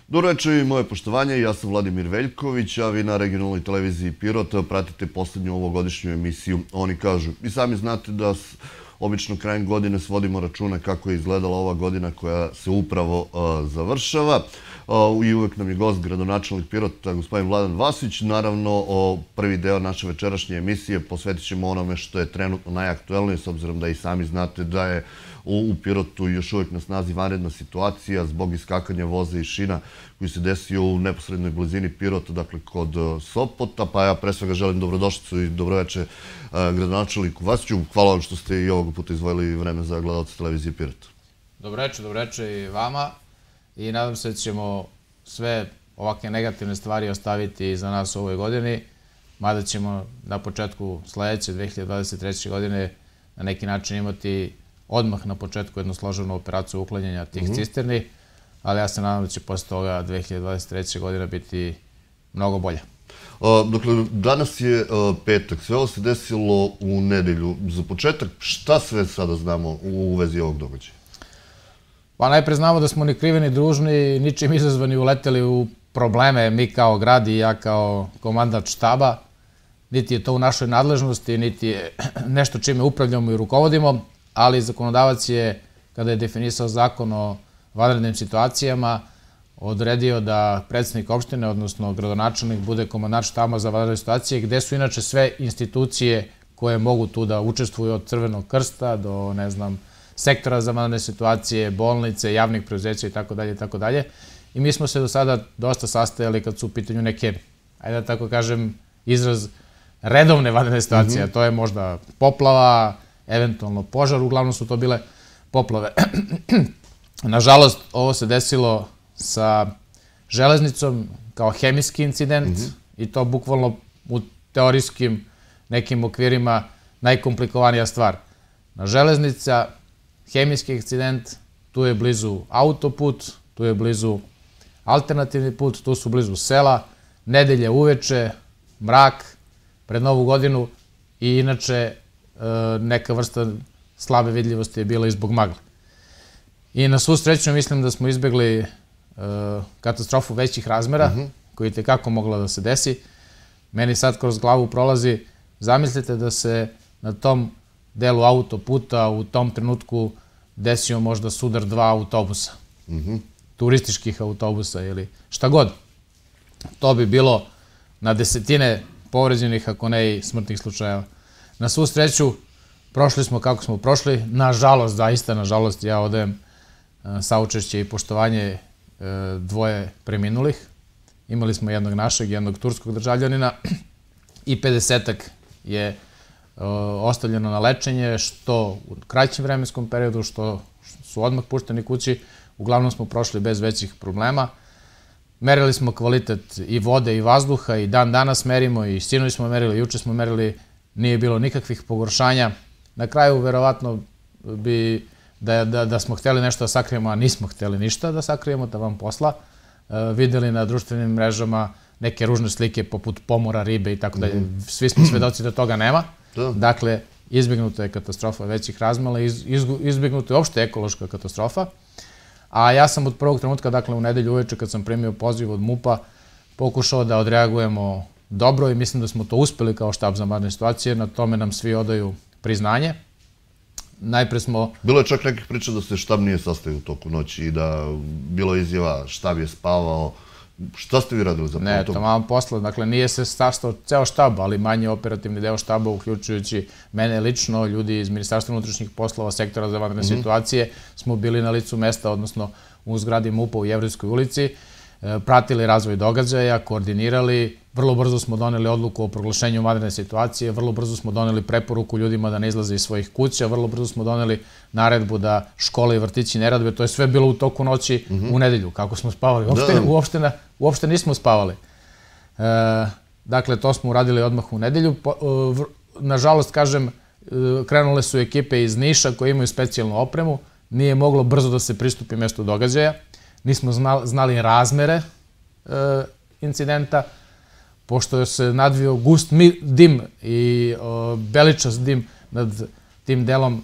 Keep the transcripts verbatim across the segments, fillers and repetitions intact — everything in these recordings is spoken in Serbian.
Dobro večer i moje poštovanje, ja sam Vladimir Veljković, a vi na regionalnoj televiziji Pirot pratite poslednju ovogodišnju emisiju Oni kažu. I sami znate da obično krajem godine svodimo račune kako je izgledala ova godina koja se upravo završava. I uvek nam je gost gradonačelnik Pirota, gospodin Vladan Vasić. Naravno, prvi deo naše večerašnje emisije posvetit ćemo onome što je trenutno najaktuelnije, s obzirom da i sami znate da je u Pirotu još uvek na snazi vanredna situacija zbog iskakanja voza i šina koji se desio u neposrednoj blizini Pirota, dakle kod Sopota. Pa ja pre svega želim dobrodošlicu i dobroveče gradonačelniku Vasiću. Hvala vam što ste i ovog puta izdvojili vreme za gledalce televizije Pirot. Dobroveče, dobroveče i vama. I nadam se da ćemo sve ovakve negativne stvari ostaviti za nas u ovoj godini, mada ćemo na početku sledeće, dve hiljade dvadeset treće. godine, na neki način imati odmah na početku jednu složenu operaciju uklanjanja tih cisterni, ali ja se nadam da će posle toga dve hiljade dvadeset treće. godina biti mnogo bolja. Dakle, danas je petak, sve ovo se desilo u nedelju. Za početak, šta sve sada znamo u vezi ovog događaja? Pa najpre znamo da smo ni krivi ni dužni, ničim izazvani uleteli u probleme, mi kao grad i ja kao komandant štaba. Niti je to u našoj nadležnosti, niti je nešto čime upravljamo i rukovodimo, ali zakonodavac je, kada je definisao zakon o vanrednim situacijama, odredio da predsednik opštine, odnosno gradonačelnik, bude komandant štaba za vanredne situacije, gde su inače sve institucije koje mogu tu da učestvuju, od Crvenog krsta do, ne znam, sektora za vanredne situacije, bolnice, javnih preduzeća i tako dalje i tako dalje. I mi smo se do sada dosta sastajali kad su u pitanju neke, ajde da tako kažem, izraz redovne vanredne situacije. A to je možda poplava, eventualno požar, uglavnom su to bile poplave. Nažalost, ovo se desilo sa železnicom kao hemijski incident i to bukvalno u teorijskim nekim okvirima najkomplikovanija stvar. Na železnica, hemijski incident, tu je blizu autoput, tu je blizu alternativni put, tu su blizu sela, nedelje uveče, mrak, pred Novu godinu i inače neka vrsta slabe vidljivosti je bila i zbog magle. I na svu sreću mislim da smo izbjegli katastrofu većih razmera, koja je tekako mogla da se desi. Meni sad kroz glavu prolazi, zamislite da se na tom delu autoputa u tom trenutku desio možda sudar dva autobusa, turističkih autobusa ili šta god. To bi bilo na desetine povređenih, ako ne i smrtnih slučajeva. Na svu sreću, prošli smo kako smo prošli. Nažalost, zaista, nažalost, ja odajem saučešće i poštovanje dvoje preminulih. Imali smo jednog našeg, jednog turskog državljanina i pedesetak je ostavljeno na lečenje, što u kraćem vremenskom periodu, što su odmah pušteni kući. Uglavnom smo prošli bez većih problema. Merili smo kvalitet i vode i vazduha i dan danas merimo i sinoć smo merili, juče smo merili, nije bilo nikakvih pogoršanja. Na kraju, verovatno bi, da smo hteli nešto da sakrijemo, a nismo hteli ništa da sakrijemo, da vam posla. Videli na društvenim mrežama neke ružne slike poput pomora, ribe i tako dalje. Svi smo svedoci da toga nema. Dakle, izbjegnuta je katastrofa većih razmela, izbjegnuta je opšte ekološka katastrofa. A ja sam od prvog trenutka, dakle u nedelju uveče kad sam primio poziv od MUP-a, pokušao da odreagujemo dobro i mislim da smo to uspeli kao štab za vanredne situacije. Na tome nam svi odaju priznanje. Najpre smo... Bilo je čak nekih priča da se štab nije sastavio u toku noći i da bilo izjava štab je spavao. Šta ste vi radili za Ne, to malo posla. Dakle, nije se sastao ceo štab, ali manje operativni deo štaba, uključujući mene lično, ljudi iz Ministarstva unutrašnjih poslova, sektora za vanredne situacije, smo bili na licu mesta, odnosno u zgradi MUP-a u Jevrejskoj ulici, pratili razvoj događaja, koordinirali. Vrlo brzo smo doneli odluku o proglašenju vanredne situacije, vrlo brzo smo doneli preporuku ljudima da ne izlaze iz svojih kuća, vrlo brzo smo doneli naredbu da škole i vrtići ne rade. To je sve bilo u toku noći u nedelju. Kako smo spavali? Uopšte nismo spavali. Dakle, to smo uradili odmah u nedelju. Nažalost, kažem, krenule su ekipe iz Niša koje imaju specijalnu opremu. Nije moglo brzo da se pristupi mestu događaja. Nismo znali razmere incidenta. Pošto se nadvio gust dim i beličast dim nad tim delom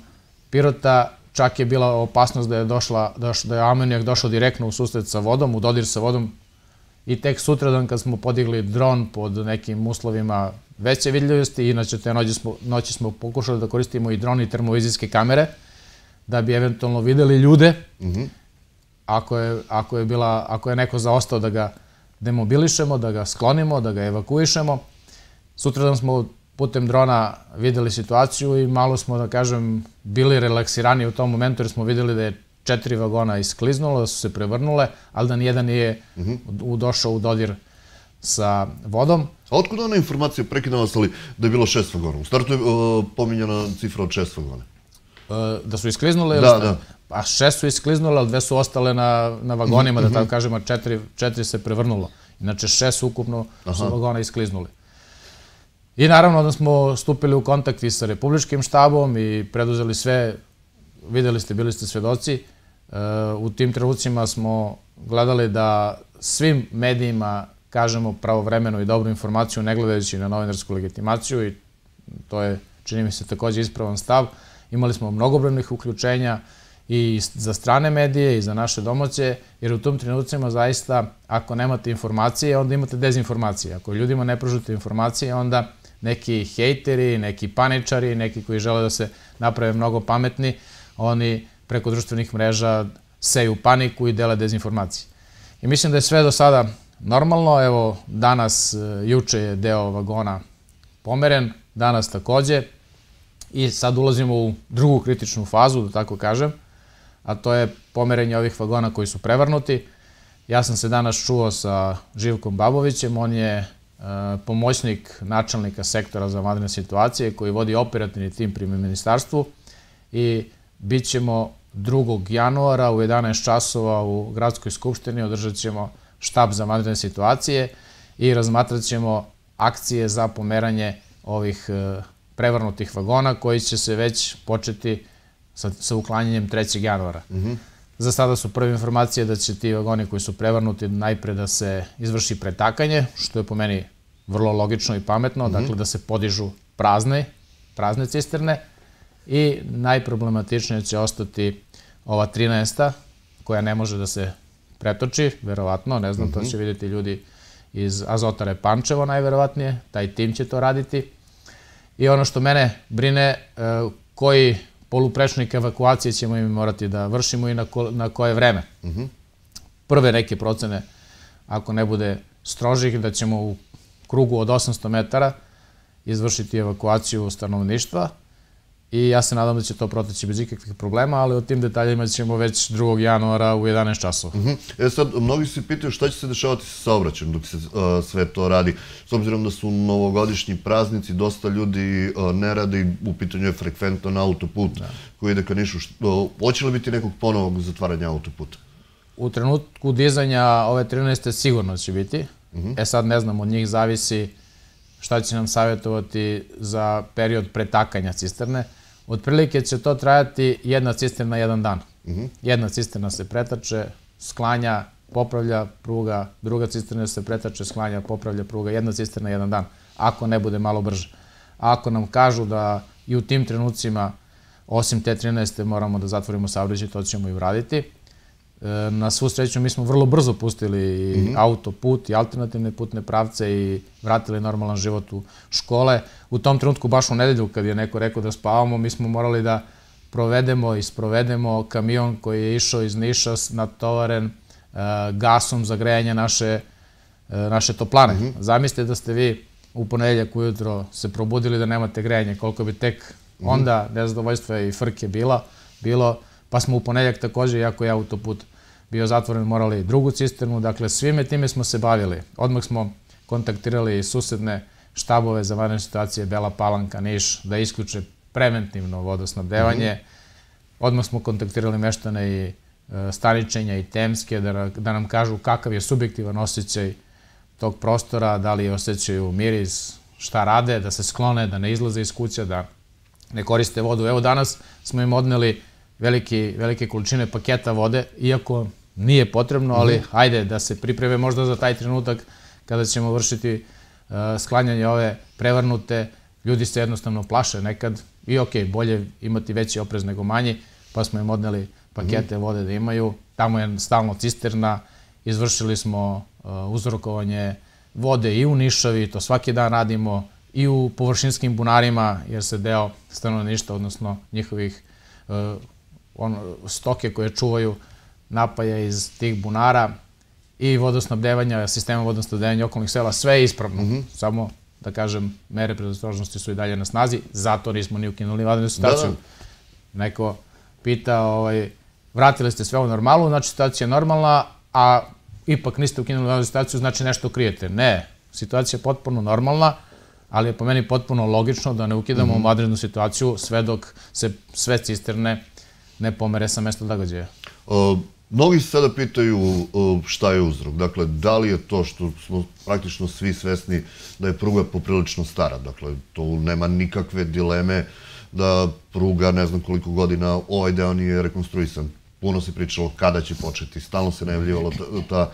Pirota, čak je bila opasnost da je došla, da je amonijak došao direktno u susret sa vodom, u dodir sa vodom. I tek sutradan kad smo podigli dron pod nekim uslovima veće vidljivosti, inače te noći smo pokušali da koristimo i dron i termovizijske kamere, da bi eventualno videli ljude, ako je neko zaostao da ga demobilišemo, da ga sklonimo, da ga evakuišemo. Sutradan smo putem drona videli situaciju i malo smo, da kažem, bili relaksirani u tom momentu jer smo videli da je četiri vagona iskliznulo, da su se prevrnule, ali da nijedan nije došao u dodir sa vodom. A otkud ona informacija, prekidam vas, ali da je bilo šest vagona? U startu je pominjena cifra od šest vagona. Da su iskliznule? Da, da. A šest su iskliznule, ali dve su ostale na vagonima, da tako kažem, a četiri se prevrnulo. Inače, šest ukupno su vagona iskliznuli. I naravno da smo stupili u kontakt i sa Republičkim štabom i preduzeli sve, videli ste, bili ste svedoci. U tim trenucima smo gledali da svim medijima kažemo pravovremenu i dobru informaciju, ne gledajući na novinarsku legitimaciju, i to je, čini mi se, također ispravan stav. Imali smo mnogobrojnih uključenja i za strane medije i za naše domaće, jer u tom trenucima zaista, ako nemate informacije, onda imate dezinformacije. Ako ljudima ne pružite informacije, onda neki hejteri, neki paničari, neki koji žele da se naprave mnogo pametni, oni preko društvenih mreža seju paniku i dele dezinformacije. I mislim da je sve do sada normalno. Evo, danas, juče je deo vagona pomeren, danas takođe, i sad ulazimo u drugu kritičnu fazu, da tako kažem, a to je pomerenje ovih vagona koji su prevrnuti. Ja sam se danas čuo sa Živkom Babovićem, on je pomoćnik načelnika sektora za vanredne situacije koji vodi operativni tim pri ministarstvu, i bit ćemo drugog januara u jedanaest časova u Gradskoj skupštini, održat ćemo štab za vanredne situacije i razmatrat ćemo akcije za pomeranje ovih prevrnutih vagona koji će se već početi sa uklanjanjem trećeg januara. Za sada su prve informacije da će ti vagoni koji su prevrnuti najpre da se izvrši pretakanje, što je po meni vrlo logično i pametno, dakle da se podižu prazne, prazne cisterne, i najproblematičnije će ostati ova trinaesta koja ne može da se pretoči, verovatno, ne znam, to će vidjeti ljudi iz Azotare Pančevo najverovatnije, taj tim će to raditi. I ono što mene brine, koji poluprečnik evakuacije ćemo im morati da vršimo i na koje vreme. Prve neke procene, ako ne bude strožih, da ćemo u krugu od osamsto metara izvršiti evakuaciju stanovništva, i ja se nadam da će to proteći bez ikakvih problema, ali o tim detaljima ćemo već drugog januara u jedanaest časova. E sad, mnogi se pitaju šta će se dešavati sa saobraćajem dok se sve to radi. S obzirom da su novogodišnji praznici, dosta ljudi ne rade i u pitanju je frekventan autoput koji ide ka Nišu. Hoće li biti nekog ponovog zatvaranja autoputa? U trenutku dizanja ove trinaeste sigurno će biti. E sad ne znam, od njih zavisi šta će nam savjetovati za period pretakanja cisterne. Otprilike će to trajati jedna cisterna jedan dan. Jedna cisterna se pretače, sklanja, popravlja pruga, druga cisterna se pretače, sklanja, popravlja pruga, jedna cisterna jedan dan, ako ne bude malo brže. Ako nam kažu da i u tim trenucima, osim te trinaeste, moramo da zatvorimo saobraćaj, to ćemo i uraditi. Na svu sreću mi smo vrlo brzo pustili autoput i alternativne putne pravce i vratili normalan život u škole. U tom trenutku, baš u nedelju, kad je neko rekao da spavamo, mi smo morali da provedemo i sprovedemo kamion koji je išao iz Niša natovaren gasom za grejanje naše toplane. Zamislite da ste vi u ponedeljak ujutro se probudili da nemate grejanje, koliko bi tek onda nezadovoljstva i frke bilo, pa smo u ponedeljak također, iako je autoput bio zatvoren, morali drugu cisternu. Dakle, svime time smo se bavili. Odmah smo kontaktirali susedne štabove za vanredne situacije Bela Palanka, Niš, da isključe preventivno vodosnabdevanje. Odmah smo kontaktirali meštane i Staničenja i Temske da nam kažu kakav je subjektivan osjećaj tog prostora, da li osjećaju miris, šta rade, da se sklone, da ne izlaze iz kuća, da ne koriste vodu. Evo, danas smo im odneli velike količine paketa vode, iako nije potrebno, ali hajde da se pripreme možda za taj trenutak kada ćemo vršiti sklanjanje ove prevrnute. Ljudi se jednostavno plaše nekad i ok, bolje imati veći oprez nego manji. pa smo im odneli pakete vode da imaju. Tamo je stalno cisterna, izvršili smo uzrokovanje vode i u Nišavi, to svaki dan radimo, i u površinskim bunarima, jer se deo stanovništva, odnosno njihovih stoke koje čuvaju, napaja iz tih bunara, i vodosnabdevanja, sistema vodosnabdevanja okolnih sela, sve je ispravno. Samo, da kažem, mere predostrožnosti su i dalje na snazi, zato nismo ni ukinuli vanrednu situaciju. Neko pita, vratili ste sve u normalu, znači situacija je normalna, a ipak niste ukinuli vanrednu situaciju, znači nešto krijete. Ne, situacija je potpuno normalna, ali je po meni potpuno logično da ne ukidamo vanrednu situaciju sve dok se sve cisterne ne pomere sa mesta događaja. Mnogi se sada pitaju šta je uzrok. Dakle, da li je to što smo praktično svi svesni da je pruga poprilično stara. Dakle, tu nema nikakve dileme da pruga, ne znam koliko godina, ovaj deo nije rekonstruisan. Puno se pričalo kada će početi. Stalno se najavljivala ta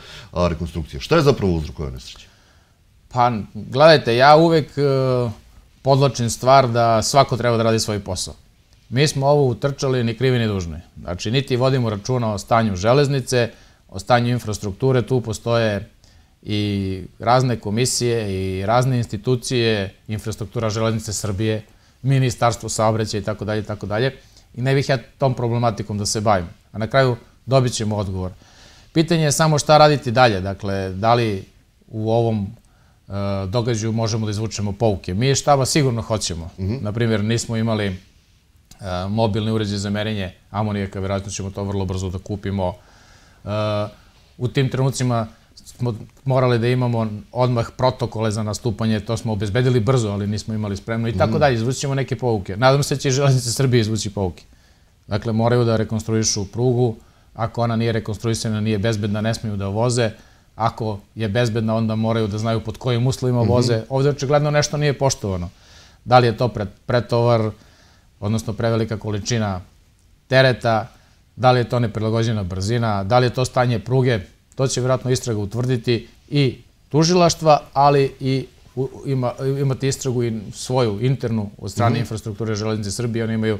rekonstrukcija. Šta je zapravo uzrok ove nesreće? Pa, gledajte, ja uvek podlačim stvar da svako treba da radi svoj posao. Mi smo ovo utrčali ni krivi ni dužni. Znači, niti vodimo računa o stanju železnice, o stanju infrastrukture, tu postoje i razne komisije i razne institucije, infrastruktura železnice Srbije, Ministarstvo saobraćaja i tako dalje i tako dalje. I ne bih ja tom problematikom da se bavim. A na kraju dobit ćemo odgovor. Pitanje je samo šta raditi dalje. Dakle, da li u ovom događaju možemo da izvučemo pouke. Mi štaba sigurno hoćemo. Naprimjer, nismo imali mobilni uređaj za merenje amonijaka, vjerojatno ćemo to vrlo brzo da kupimo. U tim trenucima smo morali da imamo odmah protokole za nastupanje, to smo obezbedili brzo, ali nismo imali spremno i tako dalje. Izvući ćemo neke pouke. Nadam se da će i Železnice Srbije izvući pouke. Dakle, moraju da rekonstruišu prugu. Ako ona nije rekonstruisana, nije bezbedna, ne smiju da voze. Ako je bezbedna, onda moraju da znaju pod kojim uslovima voze. Ovdje očigledno nešto nije poštovano. Da li je to pretovar, odnosno prevelika količina tereta, da li je to neprilagođena brzina, da li je to stanje pruge, to će vjerojatno istraga utvrditi i tužilaštva, ali i imati istragu i svoju internu od strane infrastrukture Železnice Srbije. Oni imaju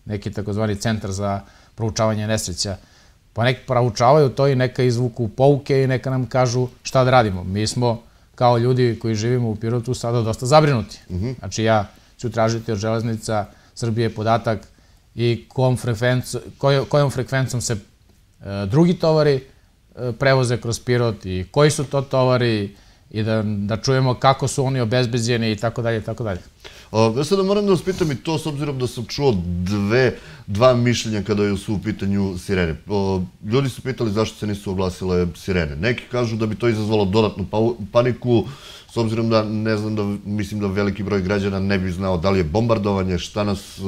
neki takozvani centar za proučavanje nesreća. Pa nek proučavaju to i neka izvuku pouke i neka nam kažu šta da radimo. Mi smo kao ljudi koji živimo u Pirotu sada dosta zabrinuti. Znači ja ću tražiti od Železnica Srbije podatak i kojom frekvencom se drugi tovari prevoze kroz Pirot i koji su to tovari i da čujemo kako su oni obezbeđeni i tako dalje i tako dalje. Ja sada moram da vas pitam i to s obzirom da sam čuo dva mišljenja kada su u pitanju sirene. Ljudi su pitali zašto se nisu oglasile sirene. Neki kažu da bi to izazvalo dodatnu paniku, s obzirom da ne znam da mislim da veliki broj građana ne bi znao da li je bombardovanje, šta nas,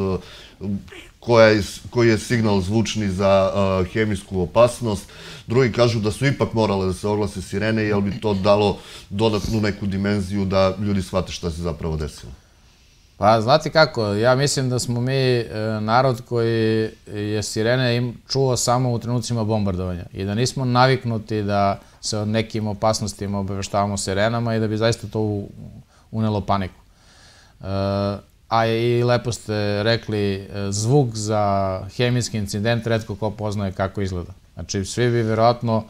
koji je signal zvučni za hemijsku opasnost. Drugi kažu da su ipak morale da se oglase sirene, jer bi to dalo dodatnu neku dimenziju da ljudi shvate šta se zapravo desilo. Pa, znate kako, ja mislim da smo mi narod koji je sirene čuo samo u trenucima bombardovanja i da nismo naviknuti da se o nekim opasnostima obaveštavamo sirenama i da bi zaista to unelo paniku. A i lepo ste rekli, zvuk za hemijski incident retko ko poznaje kako izgleda. Znači, svi bi vjerojatno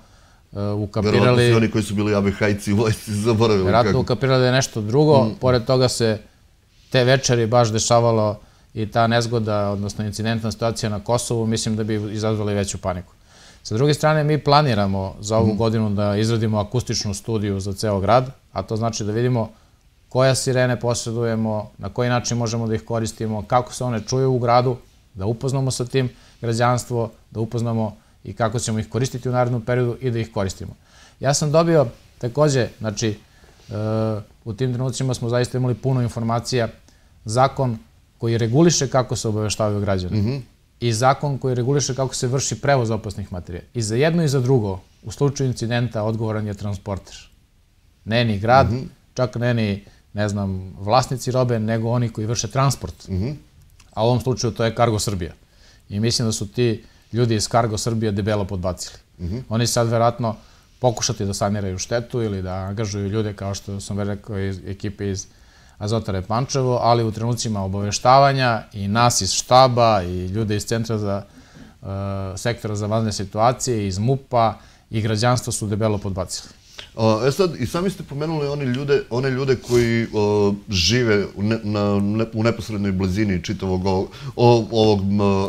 ukapirali... Vjerojatno svi oni koji su bili A B H-ici u vojsci zaboravili kako. Vjerojatno ukapirali da je nešto drugo, pored toga se te večeri baš dešavalo i ta nezgoda, odnosno incidentna situacija na Kosovu, mislim da bi izazvali veću paniku. Sa druge strane, mi planiramo za ovu godinu da izradimo akustičnu studiju za ceo grad, a to znači da vidimo koja sirene posjedujemo, na koji način možemo da ih koristimo, kako se one čuju u gradu, da upoznamo sa tim građanstvo, da upoznamo i kako ćemo ih koristiti u narednom periodu i da ih koristimo. Ja sam dobio takođe, znači, u tim trenucima smo zaista imali puno informacija, zakon koji reguliše kako se obaveštavaju građani i zakon koji reguliše kako se vrši prevoz opasnih materija. I za jedno i za drugo, u slučaju incidenta, odgovoran je transporter. Ne ni grad, čak ne ni, ne znam, vlasnici robe, nego oni koji vrše transport. A u ovom slučaju to je Cargo Srbija. I mislim da su ti ljudi iz Cargo Srbija debelo podbacili. Oni sad verovatno pokušati da saniraju štetu ili da angažuju ljude, kao što sam rekao, iz ekipe iz Azotare Pančevo, ali u trenucima obaveštavanja i nas iz štaba i ljude iz Centra za sektora za vanredne situacije, iz MUP-a i građanstva su debelo podbacili. E sad, i sami ste pomenuli one ljude koji žive u neposrednoj blizini čitavog ovog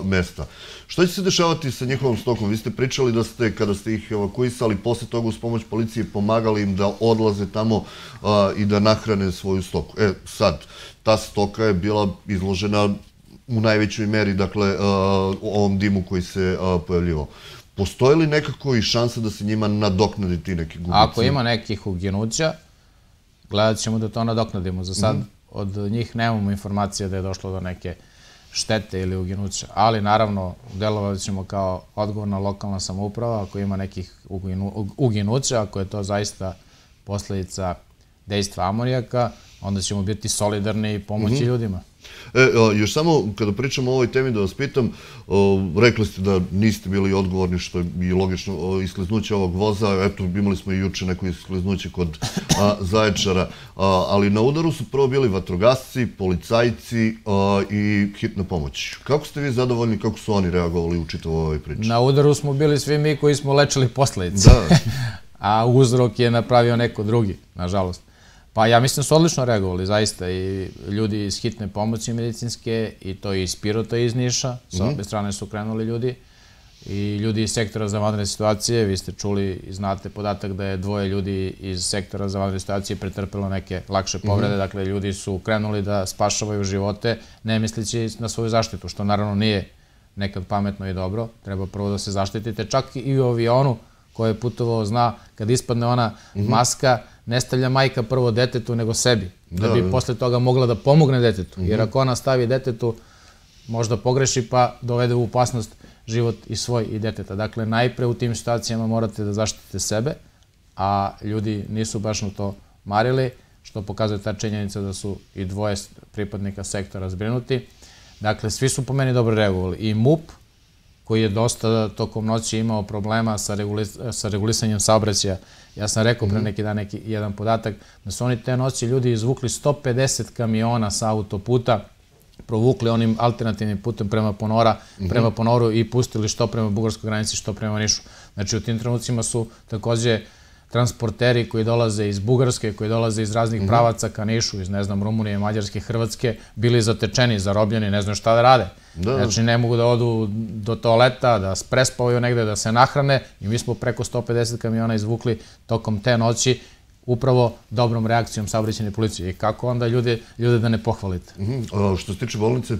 mesta. Što će se dešavati sa njihovom stokom? Vi ste pričali da ste, kada ste ih evakuisali, posle toga uz pomoć policije pomagali im da odlaze tamo i da nahrane svoju stoku. E, sad, ta stoka je bila izložena u najvećoj meri, dakle, ovom dimu koji se pojavljivao. Postoje li nekako i šansa da se njima nadoknadi ti neki gubici? Ako ima nekih uginuća, gledat ćemo da to nadoknadimo. Za sad od njih nemamo informacije da je došlo do neke štete ili uginuća, ali naravno delovali ćemo kao odgovorna lokalna samouprava ako ima nekih uginuća, ako je to zaista posledica dejstva amonijaka, onda ćemo biti solidarni i pomoći ljudima. Još samo kada pričamo o ovoj temi da vas pitam, rekli ste da niste bili odgovorni, što je i logično, iskliznuće ovog voza. Eto, imali smo i juče neko iskliznuće kod Zaječara, ali na udaru su prvo bili vatrogasci, policajci i hitna pomoć. Kako ste vi zadovoljni, kako su oni reagovali u čitavu ovoj priči? Na udaru smo bili svi mi koji smo lečili posledice, a uzrok je napravio neko drugi, nažalost. Pa ja mislim da su odlično reagovali, zaista, i ljudi iz hitne pomoći medicinske, i to i iz Pirota i iz Niša, sa obe strane su krenuli ljudi, i ljudi iz sektora za vanredne situacije. Vi ste čuli i znate podatak da je dvoje ljudi iz sektora za vanredne situacije pretrpelo neke lakše povrede, dakle ljudi su krenuli da spašavaju živote, ne misleći na svoju zaštitu, što naravno nije nekad pametno i dobro, treba prvo da se zaštitite, čak i u avionu koji je putovao zna, kad ispadne ona maska, ne stavlja majka prvo detetu nego sebi, da bi posle toga mogla da pomogne detetu. Jer ako ona stavi detetu, možda pogreši pa dovede u opasnost život i svoj i deteta. Dakle, najpre u tim situacijama morate da zaštitite sebe, a ljudi nisu baš na to marili, što pokazuje ta činjenica da su i dvoje pripadnika sektora zbrinuti. Dakle, svi su po meni dobro reagovali. I MUP, koji je dosta tokom noći imao problema sa regulisanjem saobraćaja. Ja sam rekao pre neki dan neki jedan podatak da su oni te noći ljudi izvukli sto pedeset kamiona sa autoputa, provukli onim alternativnim putem prema Ponora, prema Ponoru i pustili što prema bugarskoj granici, što prema Nišu. Znači u tim trenucima su takođe transporteri koji dolaze iz Bugarske, koji dolaze iz raznih pravaca ka Nišu, iz, ne znam, Rumunije, Mađarske, Hrvatske, bili zatečeni, zarobljeni, ne znam šta da rade. Znači, ne mogu da odu do toaleta, da prespavaju negde, da se nahrane, i mi smo preko sto pedeset kamiona izvukli tokom te noći, upravo dobrom reakcijom saobraćajne policije. I kako onda ljude da ne pohvalite? Što se tiče bolnice?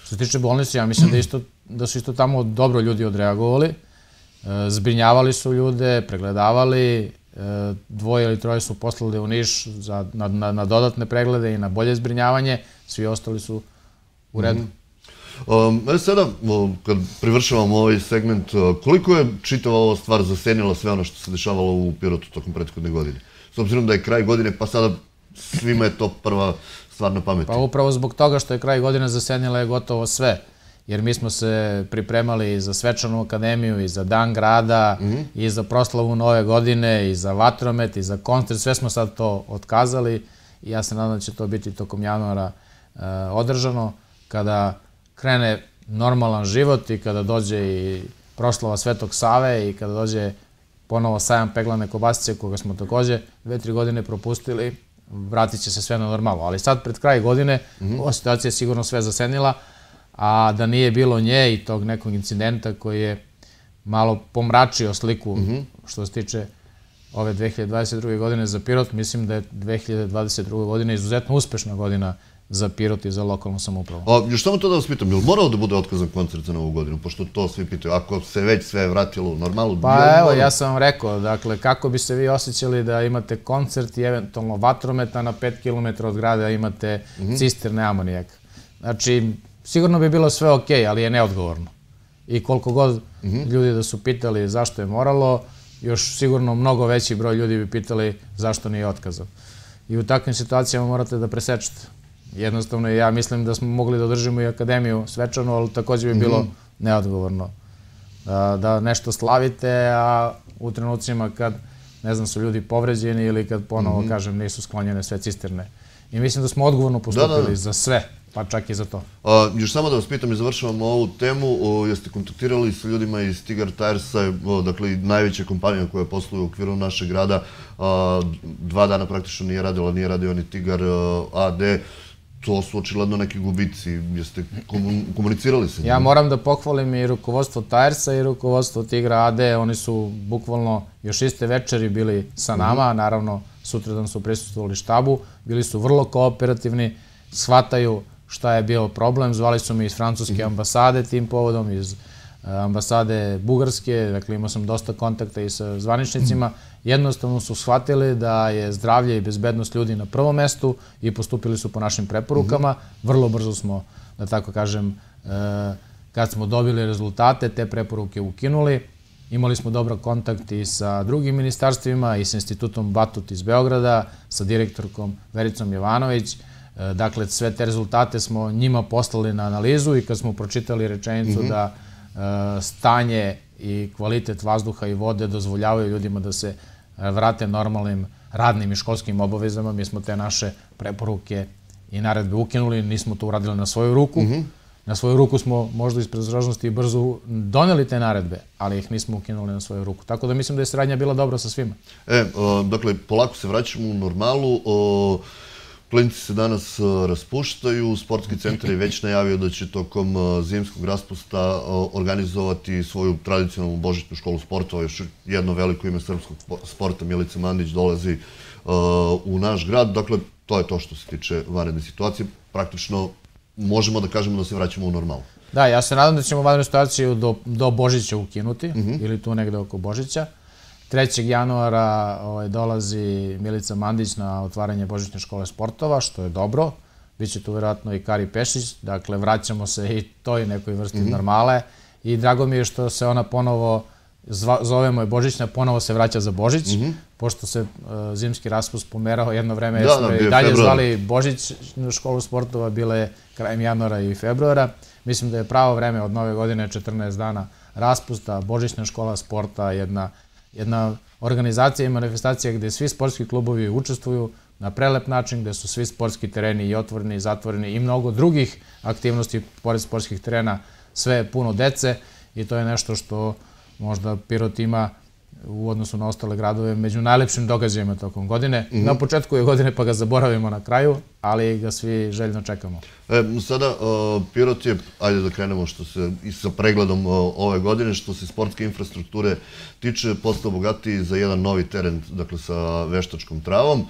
Što se tiče bolnice, ja mislim da su isto tamo dobro ljudi odreagovali. Zbrinjavali su ljude, pregledavali, dvoje ili troje su poslali u Niš na dodatne preglede i na bolje zbrinjavanje, svi ostali su u redu. Sada, kad privršavamo ovaj segment, koliko je čitava ova stvar zasenila sve ono što se dešavalo u Pirotu tokom prethodne godine? S obzirom da je kraj godine, pa sada svima je to prva stvar na pameti. Pa upravo zbog toga što je kraj godine zasenila je gotovo sve. Jer mi smo se pripremali i za svečanu akademiju, i za dan grada, i za proslavu nove godine, i za vatromet, i za koncert. Sve smo sad to otkazali i ja se nadam da će to biti tokom januara održano. Kada krene normalan život i kada dođe i proslava Svetog Save i kada dođe ponovo sajam peglane kobasice, koga smo takođe dve, tri godine propustili, vratit će se sve na normalno. Ali sad pred kraj godine ova situacija je sigurno sve zasenila, a da nije bilo nje i tog nekog incidenta koji je malo pomračio sliku što se tiče ove dve hiljade dvadeset druge godine za Pirot, mislim da je dve hiljade dvadeset druga godina izuzetno uspešna godina za Pirot i za lokalnu samoupravu. Još samo to da vas pitam, je li morao da bude otkazan koncert za Novu godinu, pošto to svi pitaju, ako se već sve vratilo u normalu? Pa evo, ja sam vam rekao, dakle, kako bi se vi osjećali da imate koncert i eventualno vatrometa na pet kilometara od grada imate cisterne amonijaka. Znači, sigurno bi bilo sve okej, ali je neodgovorno. I koliko god ljudi da su pitali zašto je moralo, još sigurno mnogo veći broj ljudi bi pitali zašto nije otkazan. I u takvim situacijama morate da presečete. Jednostavno, ja mislim da smo mogli da održimo i akademiju svečanu, ali takođe bi bilo neodgovorno da nešto slavite, a u trenucima kad, ne znam, su ljudi povređeni ili kad ponovo, kažem, nisu sklonjene sve cisterne. i mislim da smo odgovorno postupili za sve, pa čak i za to. Još samo da vas pitam i završavamo ovu temu, jeste kontaktirali sa ljudima iz Tigar Tiresa, dakle najveća kompanija koja posluje u okviru našeg grada, dva dana praktično nije radila, nije radio ni Tigar A D, to su očigledno neki gubici, jeste komunicirali sa njima? Ja moram da pohvalim i rukovodstvo Tiresa i rukovodstvo Tigra A D, oni su bukvalno još iste večeri bili sa nama, naravno sutradan su prisustvovali štabu, bili su vrlo kooperativni, shvataju šta je bio problem, zvali su me iz francuske ambasade tim povodom, iz ambasade Bugarske, dakle imao sam dosta kontakta i sa zvaničnicima, jednostavno su shvatili da je zdravlje i bezbednost ljudi na prvom mestu i postupili su po našim preporukama. Vrlo brzo smo, da tako kažem, kad smo dobili rezultate, te preporuke ukinuli. Imali smo dobar kontakt i sa drugim ministarstvima i sa institutom Batut iz Beograda, sa direktorkom Vericom Jovanović. Dakle, sve te rezultate smo njima poslali na analizu i kad smo pročitali rečenicu da stanje i kvalitet vazduha i vode dozvoljavaju ljudima da se vrate normalnim radnim i školskim obavezama, mi smo te naše preporuke i naredbe ukinuli, nismo to uradili na svoju ruku. Na svoju ruku smo možda iz predostrožnosti i brzo doneli te naredbe, ali ih nismo ukinuli na svoju ruku. Tako da mislim da je saradnja bila dobra sa svima. E, dakle, polako se vraćamo u normalu. Klinci se danas raspuštaju, sportski centar je već najavio da će tokom zimskog raspusta organizovati svoju tradicionalnu božićnu školu sportova. Još jedno veliko ime srpskog sporta, Milica Mandić, dolazi u naš grad. Dakle, to je to što se tiče vanredne situacije. Praktično možemo da kažemo da se vraćamo u normalu. Da, ja se nadam da ćemo vanrednu situaciju do Božića ukinuti, ili tu negde oko Božića. trećeg januara dolazi Milica Mandić na otvaranje Božićne škole sportova, što je dobro. Biće tu vjerojatno i Kari Pešić, dakle vraćamo se i toj nekoj vrsti normale. I drago mi je što se ona ponovo, zovemo je Božićna, ponovo se vraća za Božić, pošto se zimski raspust pomerao jedno vreme, jer smo i dalje zvali Božićnu školu sportova, bile je krajem januara i februara. Mislim da je pravo vreme od nove godine, četrnaest dana raspusta, Božićna škola sporta, jedna jedna organizacija i manifestacija gde svi sportski klubovi učestvuju na prelep način, gde su svi sportski tereni i otvoreni i zatvoreni i mnogo drugih aktivnosti pored sportskih terena, sve je puno dece i to je nešto što možda Pirot ima u odnosu na ostale gradove među najlepšim događajima tokom godine. Na početku je godine pa ga zaboravimo na kraju, ali ga svi željno čekamo. Sada Pirot je, ajde da krenemo što se i sa pregledom ove godine, što se sportske infrastrukture tiče, postao bogatiji za jedan novi teren, dakle sa veštačkom travom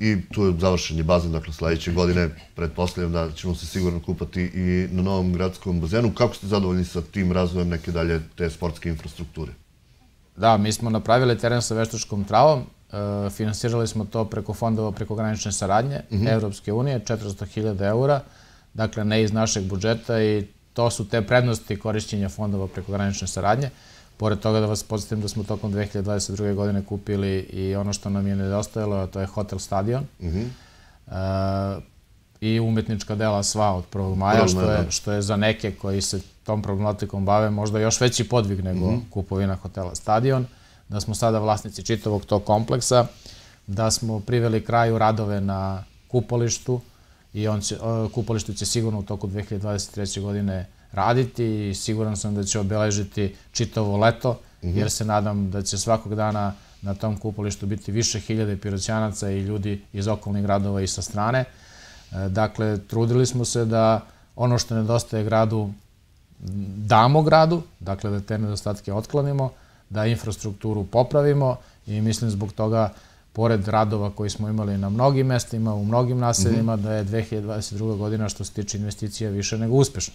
i tu je završen je bazen, dakle sledeće godine, pretpostavljam da ćemo se sigurno kupati i na novom gradskom bazenu. Kako ste zadovoljni sa tim razvojem neke dalje te sportske infrastrukture? Da, mi smo napravili teren sa veštačkom travom, finansirali smo to preko fondova prekogranične saradnje Evropske unije, četiristo hiljada eura, dakle ne iz našeg budžeta i to su te prednosti korišćenja fondova prekogranične saradnje. Pored toga da vas podsjetim da smo tokom dve hiljade dvadeset druge. godine kupili i ono što nam je nedostajalo, a to je hotel stadion i umetnička dela sva od prvog maja, što je za neke koji se tom problematikom bave možda još veći podvig nego kupovina hotela stadion, da smo sada vlasnici čitavog tog kompleksa, da smo priveli kraju radove na kupalištu i kupalište će sigurno u toku dve hiljade dvadeset treće. godine raditi i siguran sam da će obeležiti čitavo leto, jer se nadam da će svakog dana na tom kupalištu biti više hiljade piroćanaca i ljudi iz okolnih gradova i sa strane. Dakle, trudili smo se da ono što nedostaje gradu damo gradu, dakle da te nedostatke otklonimo, da infrastrukturu popravimo i mislim zbog toga, pored radova koji smo imali na mnogim mestima, u mnogim naseljima, da je dve hiljade dvadeset druga. godina što se tiče investicija više nego uspešna.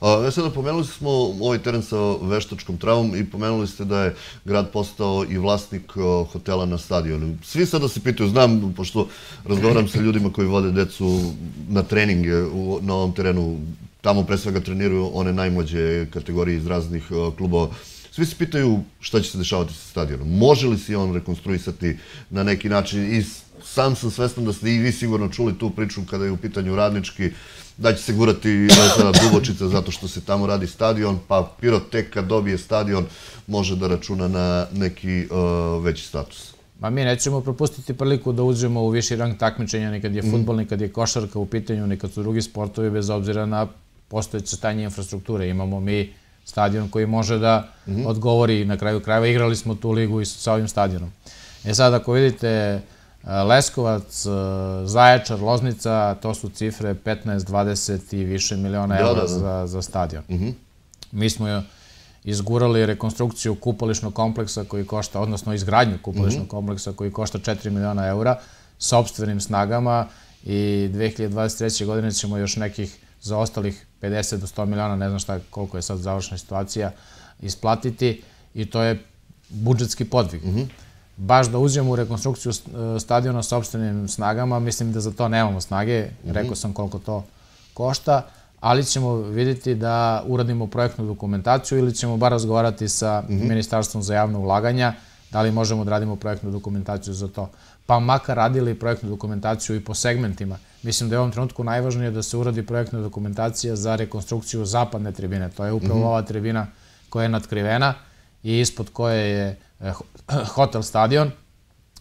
Ja sada pomenuli smo ovaj teren sa veštačkom travom i pomenuli ste da je grad postao i vlasnik hotela na stadionu. Svi sada se pitaju, znam, pošto razgovaram sa ljudima koji vode decu na treninge na ovom terenu, tamo pre svega treniraju one najmlađe kategorije iz raznih klubova. Svi se pitaju šta će se dešavati sa stadionom. Može li se on rekonstruisati na neki način? I sam sam svestan da ste i vi sigurno čuli tu priču kada je u pitanju Radnički, da će se gurati Dubočica zato što se tamo radi stadion, pa Pirot tek kad dobije stadion može da računa na neki veći status. Ma mi nećemo propustiti priliku da uđemo u viši rang takmičenja, ni kad je fudbal, ni kad je košarka u pitanju, ni kad su drugi sportovi, bez obzira na postojeće stanje infrastrukture. Imamo mi stadion koji može da odgovori, na kraju krajeva igrali smo tu ligu i sa ovim stadionom. E sad, ako vidite Leskovac, Zaječar, Loznica, to su cifre petnaest, dvadeset i više miliona evra za stadion. Mi smo izgurali rekonstrukciju kupališnog kompleksa koji košta, odnosno izgradnju kupališnog kompleksa koji košta četiri miliona eura sopstvenim snagama i dve hiljade dvadeset treće. godine ćemo još nekih za ostalih pedeset do sto miliona, ne znam šta koliko je sad završna situacija, isplatiti i to je budžetski podvig. Baš da uđemo u rekonstrukciju stadiona sopstvenim snagama, mislim da za to nemamo snage, rekao sam koliko to košta, ali ćemo vidjeti da uradimo projektnu dokumentaciju ili ćemo bar razgovarati sa Ministarstvom za javno ulaganja, da li možemo da radimo projektnu dokumentaciju za to. Pa makar radili projektnu dokumentaciju i po segmentima. Mislim da je u ovom trenutku najvažnije da se uradi projektna dokumentacija za rekonstrukciju zapadne tribine. To je upravo ova tribina koja je natkrivena i ispod koje je hotel stadion,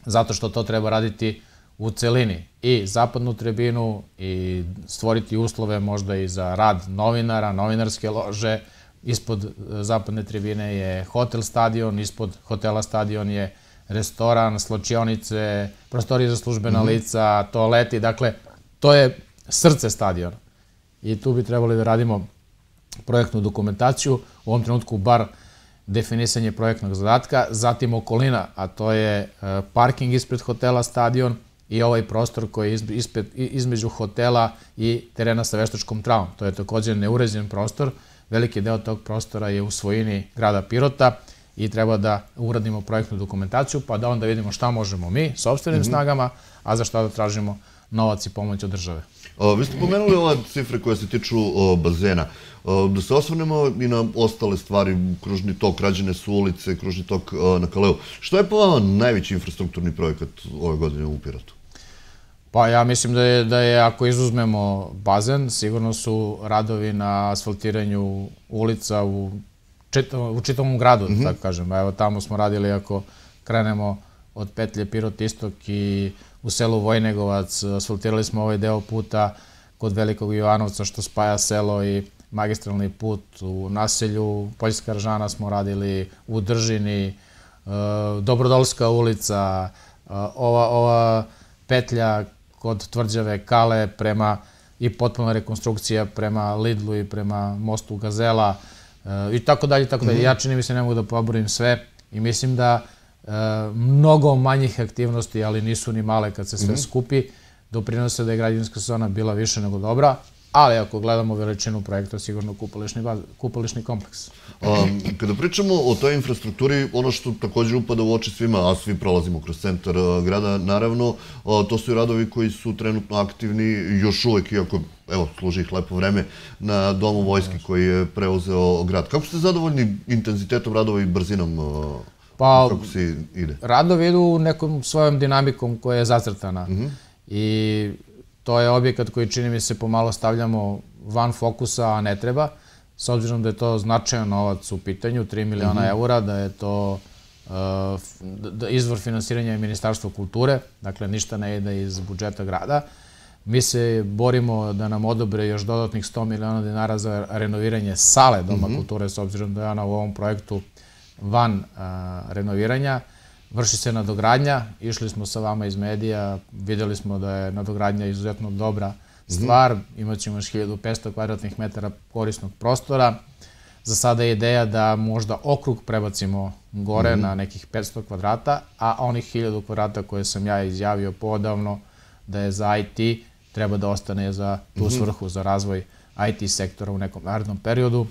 zato što to treba raditi u celini. I zapadnu tribinu i stvoriti uslove možda i za rad novinara, novinarske lože. Ispod zapadne tribine je hotel stadion, ispod hotela stadion je restoran, slačionice, prostorije za službena lica, toaleti. Dakle, to je srce stadiona. I tu bi trebali da radimo projektnu dokumentaciju. U ovom trenutku bar definisanje projektnog zadatka, zatim okolina, a to je parking ispred hotela stadion i ovaj prostor koji je između hotela i terena sa veštačkom travom. To je također neuređen prostor. Veliki deo tog prostora je u svojini grada Pirota i treba da uradimo projektnu dokumentaciju, pa da onda vidimo šta možemo mi, sopstvenim snagama, a za šta da tražimo novac i pomoć od države. Vi ste pomenuli ove cifre koje se tiču bazena. Da se osvrnemo i na ostale stvari, kružni tok, rađene su ulice, kružni tok na Kaleu. Što je po vama najveći infrastrukturni projekat ove godine u Pirotu? Pa ja mislim da je, ako izuzmemo bazen, sigurno su radovi na asfaltiranju ulica u čitavom gradu, tako kažem. Evo tamo smo radili, ako krenemo od petlje Pirot Istok i u selu Vojnegovac, asfaltirali smo ovaj deo puta kod Velikog Jovanovca što spaja selo i magistralni put u naselju. Poljska Ržana smo radili u Držini, Dobrodolska ulica, ova petlja kod Tvrđave Kale prema i potpuna rekonstrukcija prema Lidlu i prema mostu Gazela i tako dalje, tako dalje. Ja čini mi se ne mogu da poborim sve i mislim da mnogo manjih aktivnosti, ali nisu ni male kad se sve skupi, doprinose da je građevinska sezona bila više nego dobra, ali ako gledamo veličinu projekta, sigurno kupališni kompleks. Kada pričamo o toj infrastrukturi, ono što također upada u oči svima, a svi prolazimo kroz centar grada, naravno, to su i radovi koji su trenutno aktivni, još uvek, iako, evo, služi ih lepo vreme, na Domu vojske koji je preuzeo grad. Kako ste zadovoljni intenzitetom radova i brzinom? Kako se ide? Radovi idu nekom svojom dinamikom koja je zacrtana i to je objekat koji čini mi se pomalo stavljamo van fokusa, a ne treba, s obzirom da je to značajan novac u pitanju, tri miliona eura, da je to izvor finansiranja Ministarstva kulture, dakle ništa ne ide iz budžeta grada. Mi se borimo da nam odobre još dodatnih sto miliona dinara za renoviranje sale Doma kulture, s obzirom da je ona u ovom projektu van renoviranja. Vrši se nadogradnja, išli smo sa vama iz medija, videli smo da je nadogradnja izuzetno dobra stvar, imat ćemo još hiljadu petsto kvadratnih metara korisnog prostora. Za sada je ideja da možda okrug prebacimo gore na nekih petsto kvadrata, a onih hiljadu kvadrata koje sam ja izjavio poodavno da je za I T, treba da ostane za tu svrhu, za razvoj I T sektora u nekom narednom periodu.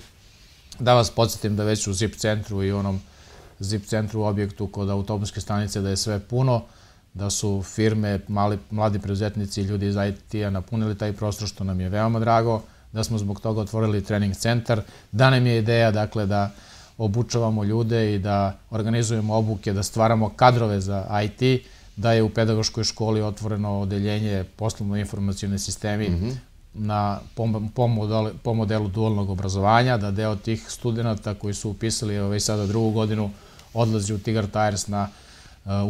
Da vas podsjetim da već u ZIP centru i onom ZIP centru u objektu kod autobuske stanice da je sve puno, da su firme, mladi preduzetnici i ljudi iz I T-a napunili taj prostor, što nam je veoma drago, da smo zbog toga otvorili trening centar, da nam je ideja dakle da obučavamo ljude i da organizujemo obuke, da stvaramo kadrove za I T, da je u pedagoškoj školi otvoreno odeljenje poslovno-informacijone sistemi po modelu dualnog obrazovanja, da deo tih studenta koji su upisali već sada drugu godinu odlazi u Tigar Tires na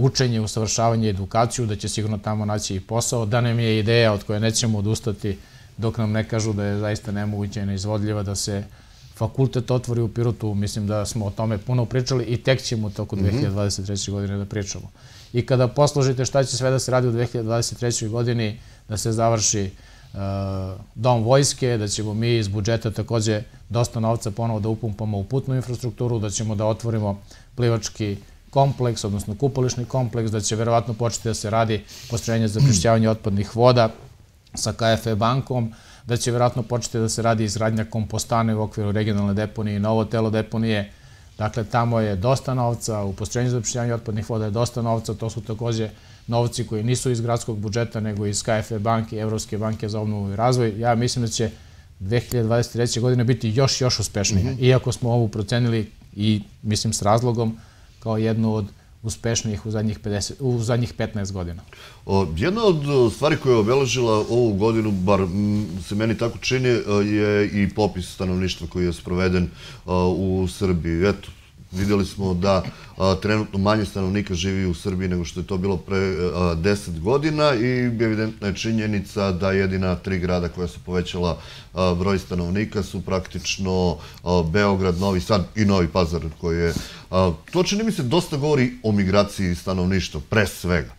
učenje, usavršavanje, edukaciju, da će sigurno tamo naći i posao, da nam je ideja od koje nećemo odustati dok nam ne kažu da je zaista nemoguće i neizvodljiva da se fakultet otvori u Pirotu. Mislim da smo o tome puno pričali i tek ćemo u toku dve hiljade dvadeset treće. godine da pričamo. I kada posložite šta će sve da se radi u dve hiljade dvadeset trećoj. godini, da se završi dom vojske, da ćemo mi iz budžeta takođe dosta novca ponovo da upumpamo u putnu infrastrukturu, da ćemo da otvorimo plivački kompleks, odnosno kupališni kompleks, da će verovatno početi da se radi postrojenje za prečišćavanje otpadnih voda sa K F E bankom, da će verovatno početi da se radi izgradnja kompostane u okviru regionalne deponije i novo telo deponije. Dakle, tamo je dosta novca, u postrojenju za prečišćavanje otpadnih voda je dosta novca, to su takođe novci koji nisu iz gradskog budžeta, nego iz K F E banke i Evropske banke za obnovu i razvoj. Ja mislim da će dve hiljade dvadeset treće. godine biti još, još uspešnija. Iako smo ovu procenili i, mislim, s razlogom, kao jednu od uspešnijih u zadnjih, pedeset, u zadnjih petnaest godina. Jedna od stvari koja je obeležila ovu godinu, bar se meni tako čini, je i popis stanovništva koji je sproveden u Srbiji. Eto, vidjeli smo da trenutno manje stanovnika živi u Srbiji nego što je to bilo pre deset godina i evidentna je činjenica da jedina tri grada koja su povećala broj stanovnika su praktično Beograd, Novi Sad i Novi Pazar koji je... To čini mi se dosta govori o migraciji stanovništva, pre svega,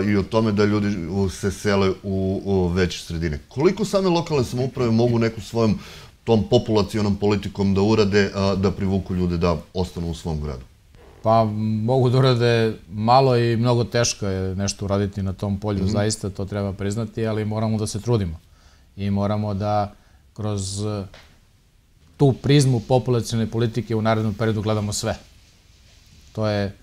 i o tome da ljudi se sele u veće sredine. Koliko same lokalne samouprave mogu neku svojom tom populacionom politikom da urade, da privuku ljude da ostanu u svom gradu? Pa mogu da urade malo i mnogo teško je nešto uraditi na tom polju, zaista to treba priznati, ali moramo da se trudimo i moramo da kroz tu prizmu populacione politike u narednom periodu gledamo sve. To je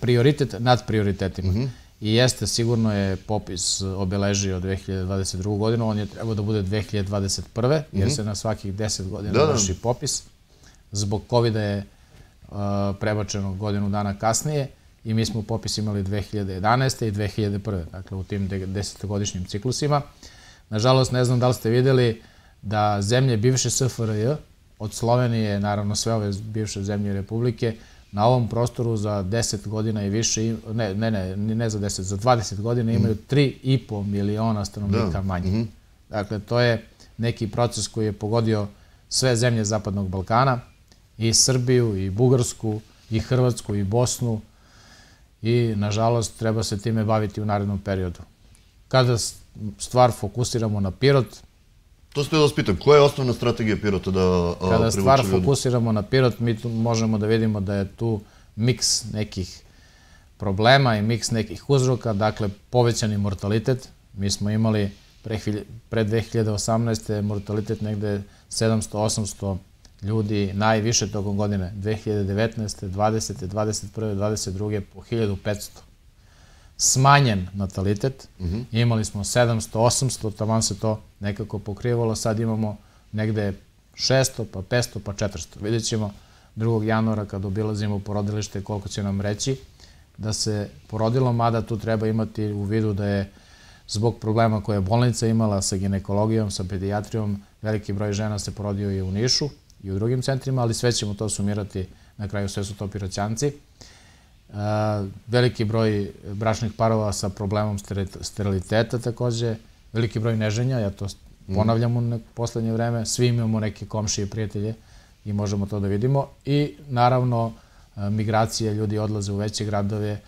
prioritet nad prioritetima. I jeste, sigurno je popis obeležio dve hiljade dvadeset drugu. godinu, on je trebao da bude dve hiljade dvadeset prve. jer se na svakih deset godina vrši popis. Zbog kovida je prebačeno godinu dana kasnije i mi smo popis imali dve hiljade jedanaeste. i dve hiljade prve. Dakle, u tim desetogodišnjim ciklusima. Nažalost, ne znam da li ste vidjeli da zemlje bivše S F R J, od Slovenije, naravno sve ove bivše zemlje republike, na ovom prostoru za deset godina i više, ne, ne, ne, ne za deset, za dvadeset godina imaju tri i po miliona stanovnika manje. Dakle, to je neki proces koji je pogodio sve zemlje Zapadnog Balkana, i Srbiju, i Bugarsku, i Hrvatsku, i Bosnu, i, nažalost, treba se time baviti u narednom periodu. Kada stvar fokusiramo na Pirot... To ste da vas pitam, koja je osnovna strategija Pirota da privuče ljude? Kada stvar fokusiramo na Pirot, mi tu možemo da vidimo da je tu miks nekih problema i miks nekih uzroka, dakle, povećani mortalitet. Mi smo imali pre dve hiljade osamnaeste. mortalitet negde sedamsto do osamsto ljudi, najviše tokom godine, dve hiljade devetnaeste. dvadesete. dvadeset prve. dvadeset druge. po hiljadu petsto. Smanjen natalitet, imali smo sedamsto, osamsto, taman se to nekako pokrivalo, sad imamo negde šesto, pa petsto, pa četiristo. Vidjet ćemo drugog januara kad obilazimo porodilište koliko će nam reći da se porodilo, mada tu treba imati u vidu da je zbog problema koje je bolnica imala sa ginekologijom, sa pedijatrijom, veliki broj žena se porodio i u Nišu i u drugim centrima, ali sve ćemo to sumirati, na kraju sve su to Piroćanci. Veliki broj bračnih parova sa problemom steriliteta takođe, veliki broj neženja, ja to ponavljam u poslednje vreme, svi imamo neke komšije i prijatelje i možemo to da vidimo. I naravno migracije, ljudi odlaze u veće gradove.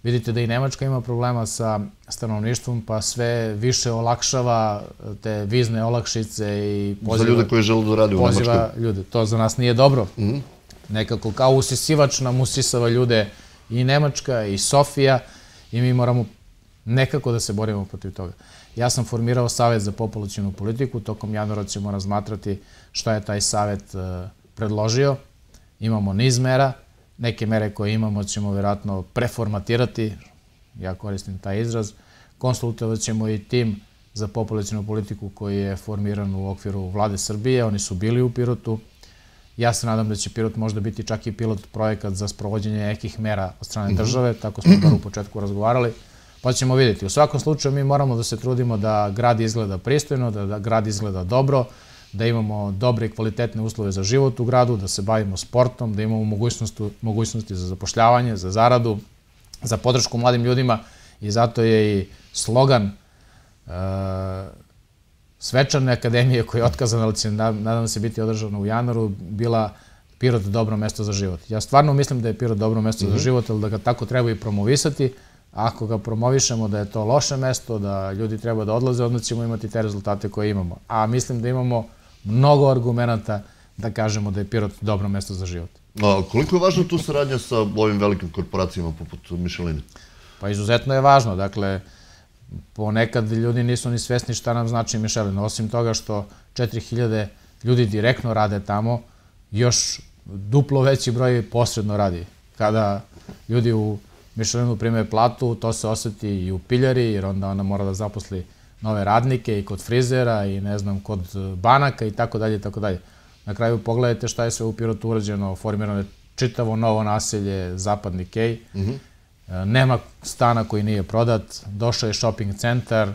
Vidite da i Nemačka ima problema sa stanovništvom, pa sve više olakšava te vizne olakšice i poziva... Za ljude koji žele da rade u Nemačkoj. Poziva ljude. To za nas nije dobro. Nekako kao usisivač nam usisava ljude i Nemačka i Sofija i mi moramo nekako da se borimo protiv toga. Ja sam formirao Savet za populacionu politiku, tokom januara ćemo razmatrati šta je taj savet predložio. Imamo niz mera, neke mere koje imamo ćemo vjerojatno preformatirati, ja koristim taj izraz, konsultovat ćemo i tim za populacionu politiku koji je formiran u okviru Vlade Srbije, oni su bili u Pirotu. Ja se nadam da će Pirot možda biti čak i pilot projekat za sprovođenje nekih mera od strane države, tako smo bar u početku razgovarali, pa ćemo vidjeti. U svakom slučaju mi moramo da se trudimo da grad izgleda pristojno, da grad izgleda dobro, da imamo dobre i kvalitetne uslove za život u gradu, da se bavimo sportom, da imamo mogućnosti za zapošljavanje, za zaradu, za podršku mladim ljudima i zato je i slogan Svečane akademije koja je otkazana, ali će, nadam se, biti održana u januaru, bila Pirot dobro mesto za život. Ja stvarno mislim da je Pirot dobro mesto za život, ali da ga tako treba i promovisati. Ako ga promovišemo da je to loše mesto, da ljudi treba da odlaze, onda ćemo imati te rezultate koje imamo. A mislim da imamo mnogo argumenta da kažemo da je Pirot dobro mesto za život. A koliko je važna tu saradnja sa ovim velikim korporacijama poput Mišeline? Pa izuzetno je važno. Dakle, ponekad ljudi nisu ni svesni šta nam znači Mišelin. Osim toga što četiri hiljade ljudi direktno rade tamo, još duplo veći broj posredno radi. Kada ljudi u Mišelinu prime platu, to se oseti i u piljari, jer onda ona mora da zaposli nove radnike i kod frizera i ne znam, kod banaka i tako dalje i tako dalje. Na kraju pogledajte šta je sve u Pirotu urađeno, formirano je čitavo novo naselje, Zapadni Kej, nema stana koji nije prodat, došao je shopping centar,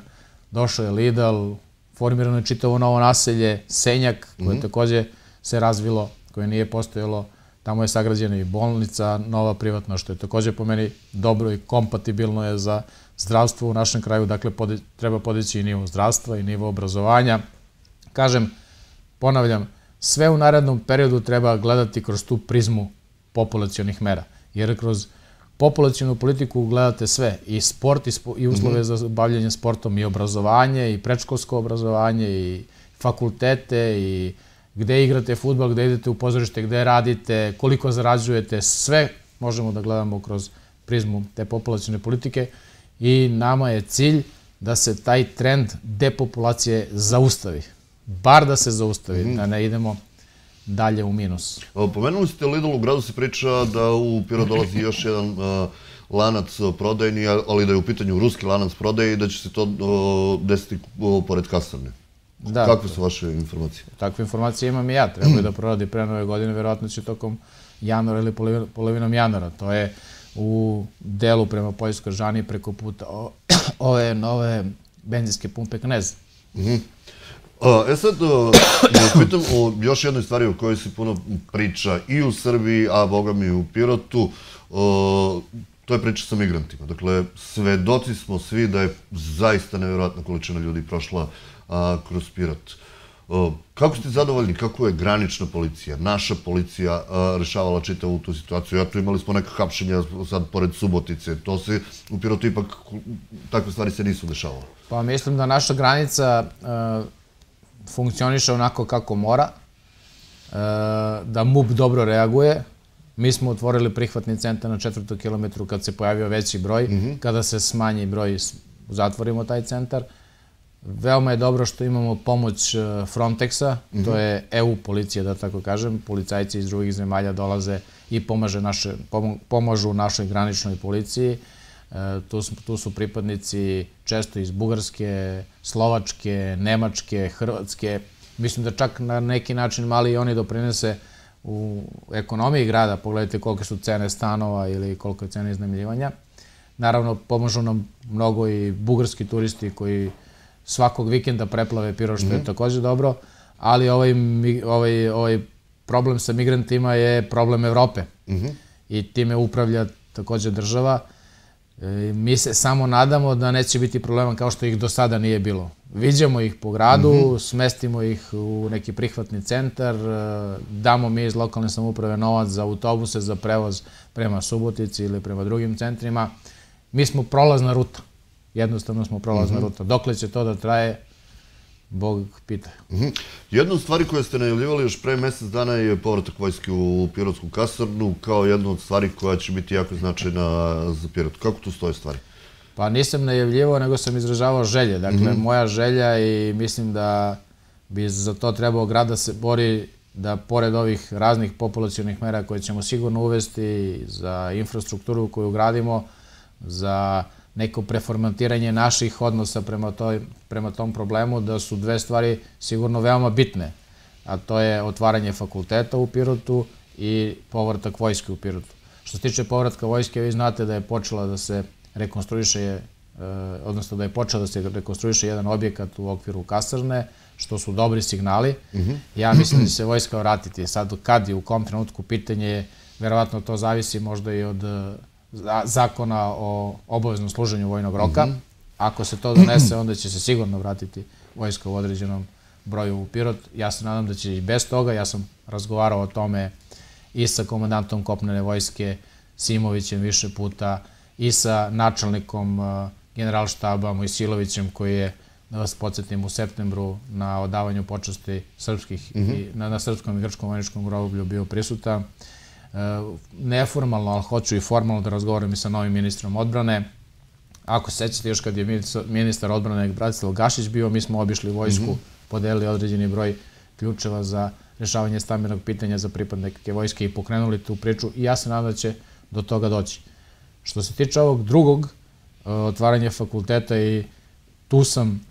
došao je Lidl, formirano je čitavo novo naselje, Senjak, koje takođe se razvilo, koje nije postojalo, tamo je sagrađena i bolnica, nova privatna, što je takođe po meni dobro i kompatibilno je za zdravstvo u našem kraju, dakle treba podići i nivo zdravstva i nivo obrazovanja. Kažem, ponavljam, sve u narednom periodu treba gledati kroz tu prizmu populacionih mera, jer kroz populacionu politiku gledate sve, i sport, i uslove za bavljanje sportom, i obrazovanje, i predškolsko obrazovanje, i fakultete, i gde igrate fudbal, gde idete u pozorište, gde radite, koliko zarađujete, sve možemo da gledamo kroz prizmu te populacione politike i nama je cilj da se taj trend depopulacije zaustavi. Bar da se zaustavi, da ne idemo dalje u minus. Pomenuli ste Lidl, u gradu se priča da u Pirot dolazi još jedan lanac prodajni, ali da je u pitanju ruski lanac prodaje i da će se to desiti pored kasarne. Kakve su vaše informacije? Takve informacije imam i ja. Treba je da proradi pre nove godine, verovatno će tokom januara ili polovinom januara. To je u delu prema Poljskoj Žani preko puta ove nove benzinske pumpe Knez. E sad, pitam o još jednoj stvari o kojoj se puno priča i u Srbiji, a boga mi i u Pirotu. To je priča sa migrantima. Dakle, svedoci smo svi da je zaista nevjerojatna količina ljudi prošla kroz Pirot. Kako ste zadovoljni? Kako je granična policija, naša policija rešavala čitavu tu situaciju? Eto, imali smo neka hapšenja sad pored Subotice. To se u Pirotu ipak, takve stvari se nisu dešavale. Pa mislim da naša granica funkcioniše onako kako mora, da MUP dobro reaguje. Mi smo otvorili prihvatni centar na četvrtom kilometru kad se pojavio veći broj. Kada se smanji broj, zatvorimo taj centar. Veoma je dobro što imamo pomoć Frontexa, to je E U policija, da tako kažem. Policajci iz drugih zemalja dolaze i pomažu našoj graničnoj policiji. Tu su pripadnici često iz Bugarske, Slovačke, Nemačke, Hrvatske. Mislim da čak na neki način mali i oni doprinese u ekonomiji grada. Pogledajte kolike su cene stanova ili koliko je cena iznajmljivanja. Naravno, pomažu nam mnogo i bugarski turisti koji svakog vikenda preplave Pirot, što je takođe dobro, ali ovaj problem sa migrantima je problem Evrope i time upravlja takođe država. Mi se samo nadamo da neće biti problema kao što ih do sada nije bilo. Viđamo ih po gradu, smestimo ih u neki prihvatni centar, damo mi iz lokalne samouprave novac za autobuse, za prevoz prema Subotici ili prema drugim centrima. Mi smo prolazna ruta. Jednostavno smo prolazna ruta. Dokle će to da traje, Bog pita. Jedna od stvari koje ste najavljivali još pre mesec dana je povratak vojske u Pirotsku kasarnu kao jedna od stvari koja će biti jako značajna za Pirot. Kako tu stoje stvari? Pa nisam najavljivao, nego sam izražavao želje. Dakle, moja želja i mislim da bi za to trebao grad da se bori da pored ovih raznih populacionih mera koje ćemo sigurno uvesti za infrastrukturu koju gradimo, za neko preformatiranje naših odnosa prema tom problemu, da su dve stvari sigurno veoma bitne, a to je otvaranje fakulteta u Pirotu i povratak vojske u Pirotu. Što se tiče povratka vojske, vi znate da je počela da se rekonstruiše, odnosno da je počela da se rekonstruiše jedan objekat u okviru kasarne, što su dobri signali. Ja mislim da će se vojska vratiti. Sad, kad i u kom trenutku, pitanje je, verovatno to zavisi možda i od zakona o obaveznom služenju vojnog roka. Ako se to donese, onda će se sigurno vratiti vojska u određenom broju u Pirot. Ja se nadam da će i bez toga. Ja sam razgovarao o tome i sa komandantom kopnene vojske Simovićem više puta i sa načelnikom generalštaba Mojsilovićem, koji je, da vas podsjetim, u septembru na odavanju počasti srpskih, na srpskom i grčkom vojničkom groblju bio prisutan. Neformalno, ali hoću i formalno da razgovaram i sa novim ministrom odbrane. Ako se sećate, još kad je ministar odbrane Bratislav Gašić bio, mi smo obišli vojsku, podelili određeni broj ključeva za rešavanje stambenog pitanja za pripadnike vojske i pokrenuli tu priču i ja se nadam da će do toga doći. Što se tiče ovog drugog otvaranja fakulteta, i tu sam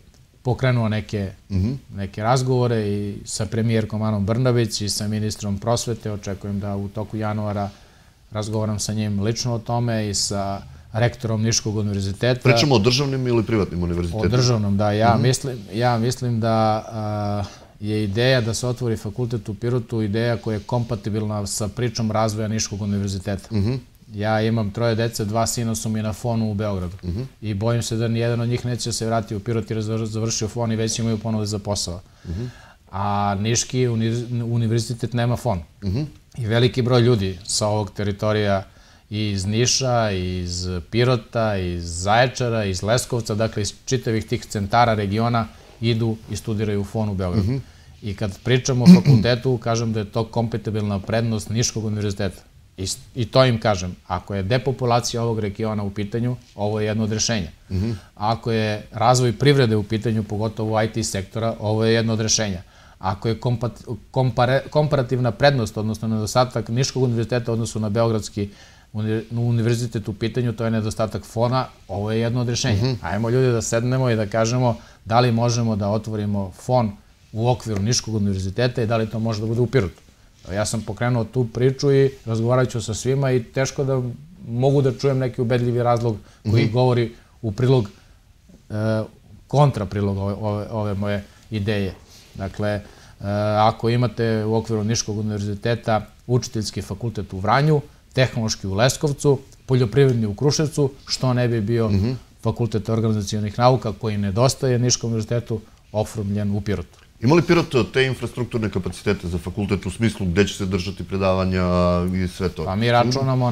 pokrenuo neke razgovore i sa premijerkom Anom Brnabić i sa ministrom prosvete. Očekujem da u toku januara razgovaram sa njim lično o tome i sa rektorom Niškog univerziteta. Pričamo o državnim ili privatnim univerzitetima? O državnom, da. Ja mislim da je ideja da se otvori fakultet u Pirotu ideja koja je kompatibilna sa pričom razvoja Niškog univerziteta. Ja imam troje dece, dva sina su mi na fonu u Beogradu i bojim se da nijedan od njih neće se vratiti u Pirot jer je završio fon i već imaju ponude za posao. A Niški univerzitet nema fon. I veliki broj ljudi sa ovog teritorija iz Niša, iz Pirota, iz Zaječara, iz Leskovca, dakle iz čitavih tih centara regiona idu i studiraju fon u Beogradu. I kad pričamo o fakultetu, kažem da je to kompatibilna prednost Niškog univerziteta. I to im kažem, ako je depopulacija ovog regiona u pitanju, ovo je jedno od rešenja. Ako je razvoj privrede u pitanju, pogotovo I T sektora, ovo je jedno od rešenja. Ako je komparativna prednost, odnosno nedostatak Niškog univerziteta u odnosu na Beogradski univerzitet u pitanju, to je nedostatak fona, ovo je jedno od rešenja. Ajmo ljudi da sednemo i da kažemo da li možemo da otvorimo fon u okviru Niškog univerziteta i da li to može da bude u Pirotu. Ja sam pokrenuo tu priču i razgovarat ću sa svima i teško da mogu da čujem neki ubedljivi razlog koji govori u prilog, kontra prilog ove moje ideje. Dakle, ako imate u okviru Niškog univerziteta učiteljski fakultet u Vranju, tehnološki u Leskovcu, poljoprivredni u Kruševcu, što ne bi bio fakultet organizacijonih nauka koji nedostaje Niškom univerzitetu, oformljen u Pirotu. Ima li Pirot te infrastrukturne kapacitete za fakultet u smislu gde će se držati predavanja i sve to? Pa mi računamo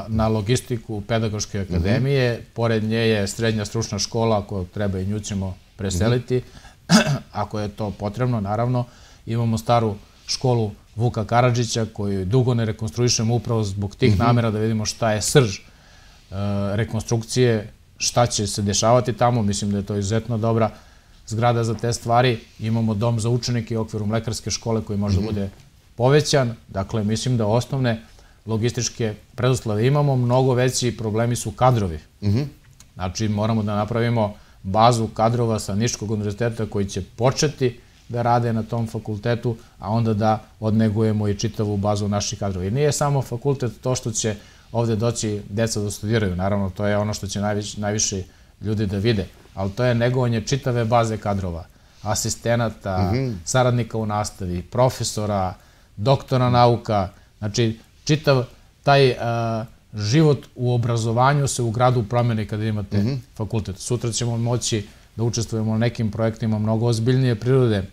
na logistiku Pedagoške akademije, pored nje je srednja stručna škola koju treba i nju ćemo preseliti, ako je to potrebno, naravno. Imamo staru školu Vuka Karadžića koju dugo ne rekonstruišemo upravo zbog tih namera da vidimo šta je srž rekonstrukcije, šta će se dešavati tamo. Mislim da je to izuzetno dobra zgrada za te stvari. Imamo dom za učenike u okviru mlekarske škole koji može da bude povećan. Dakle, mislim da osnovne logističke preduslove imamo. Mnogo veći problemi su kadrovi. Znači, moramo da napravimo bazu kadrova sa Niškog univerziteta koji će početi da rade na tom fakultetu, a onda da odnegujemo i čitavu bazu naših kadrova. I nije samo fakultet to što će ovde doći deca da studiraju. Naravno, to je ono što će najviše ljudi da vide. Ali to je negovanje čitave baze kadrova, asistenata, saradnika u nastavi, profesora, doktora nauka. Znači, čitav taj život u obrazovanju se u gradu promeni kada imate fakultet. Sutra ćemo moći da učestvujemo u nekim projektima mnogo ozbiljnije prirode.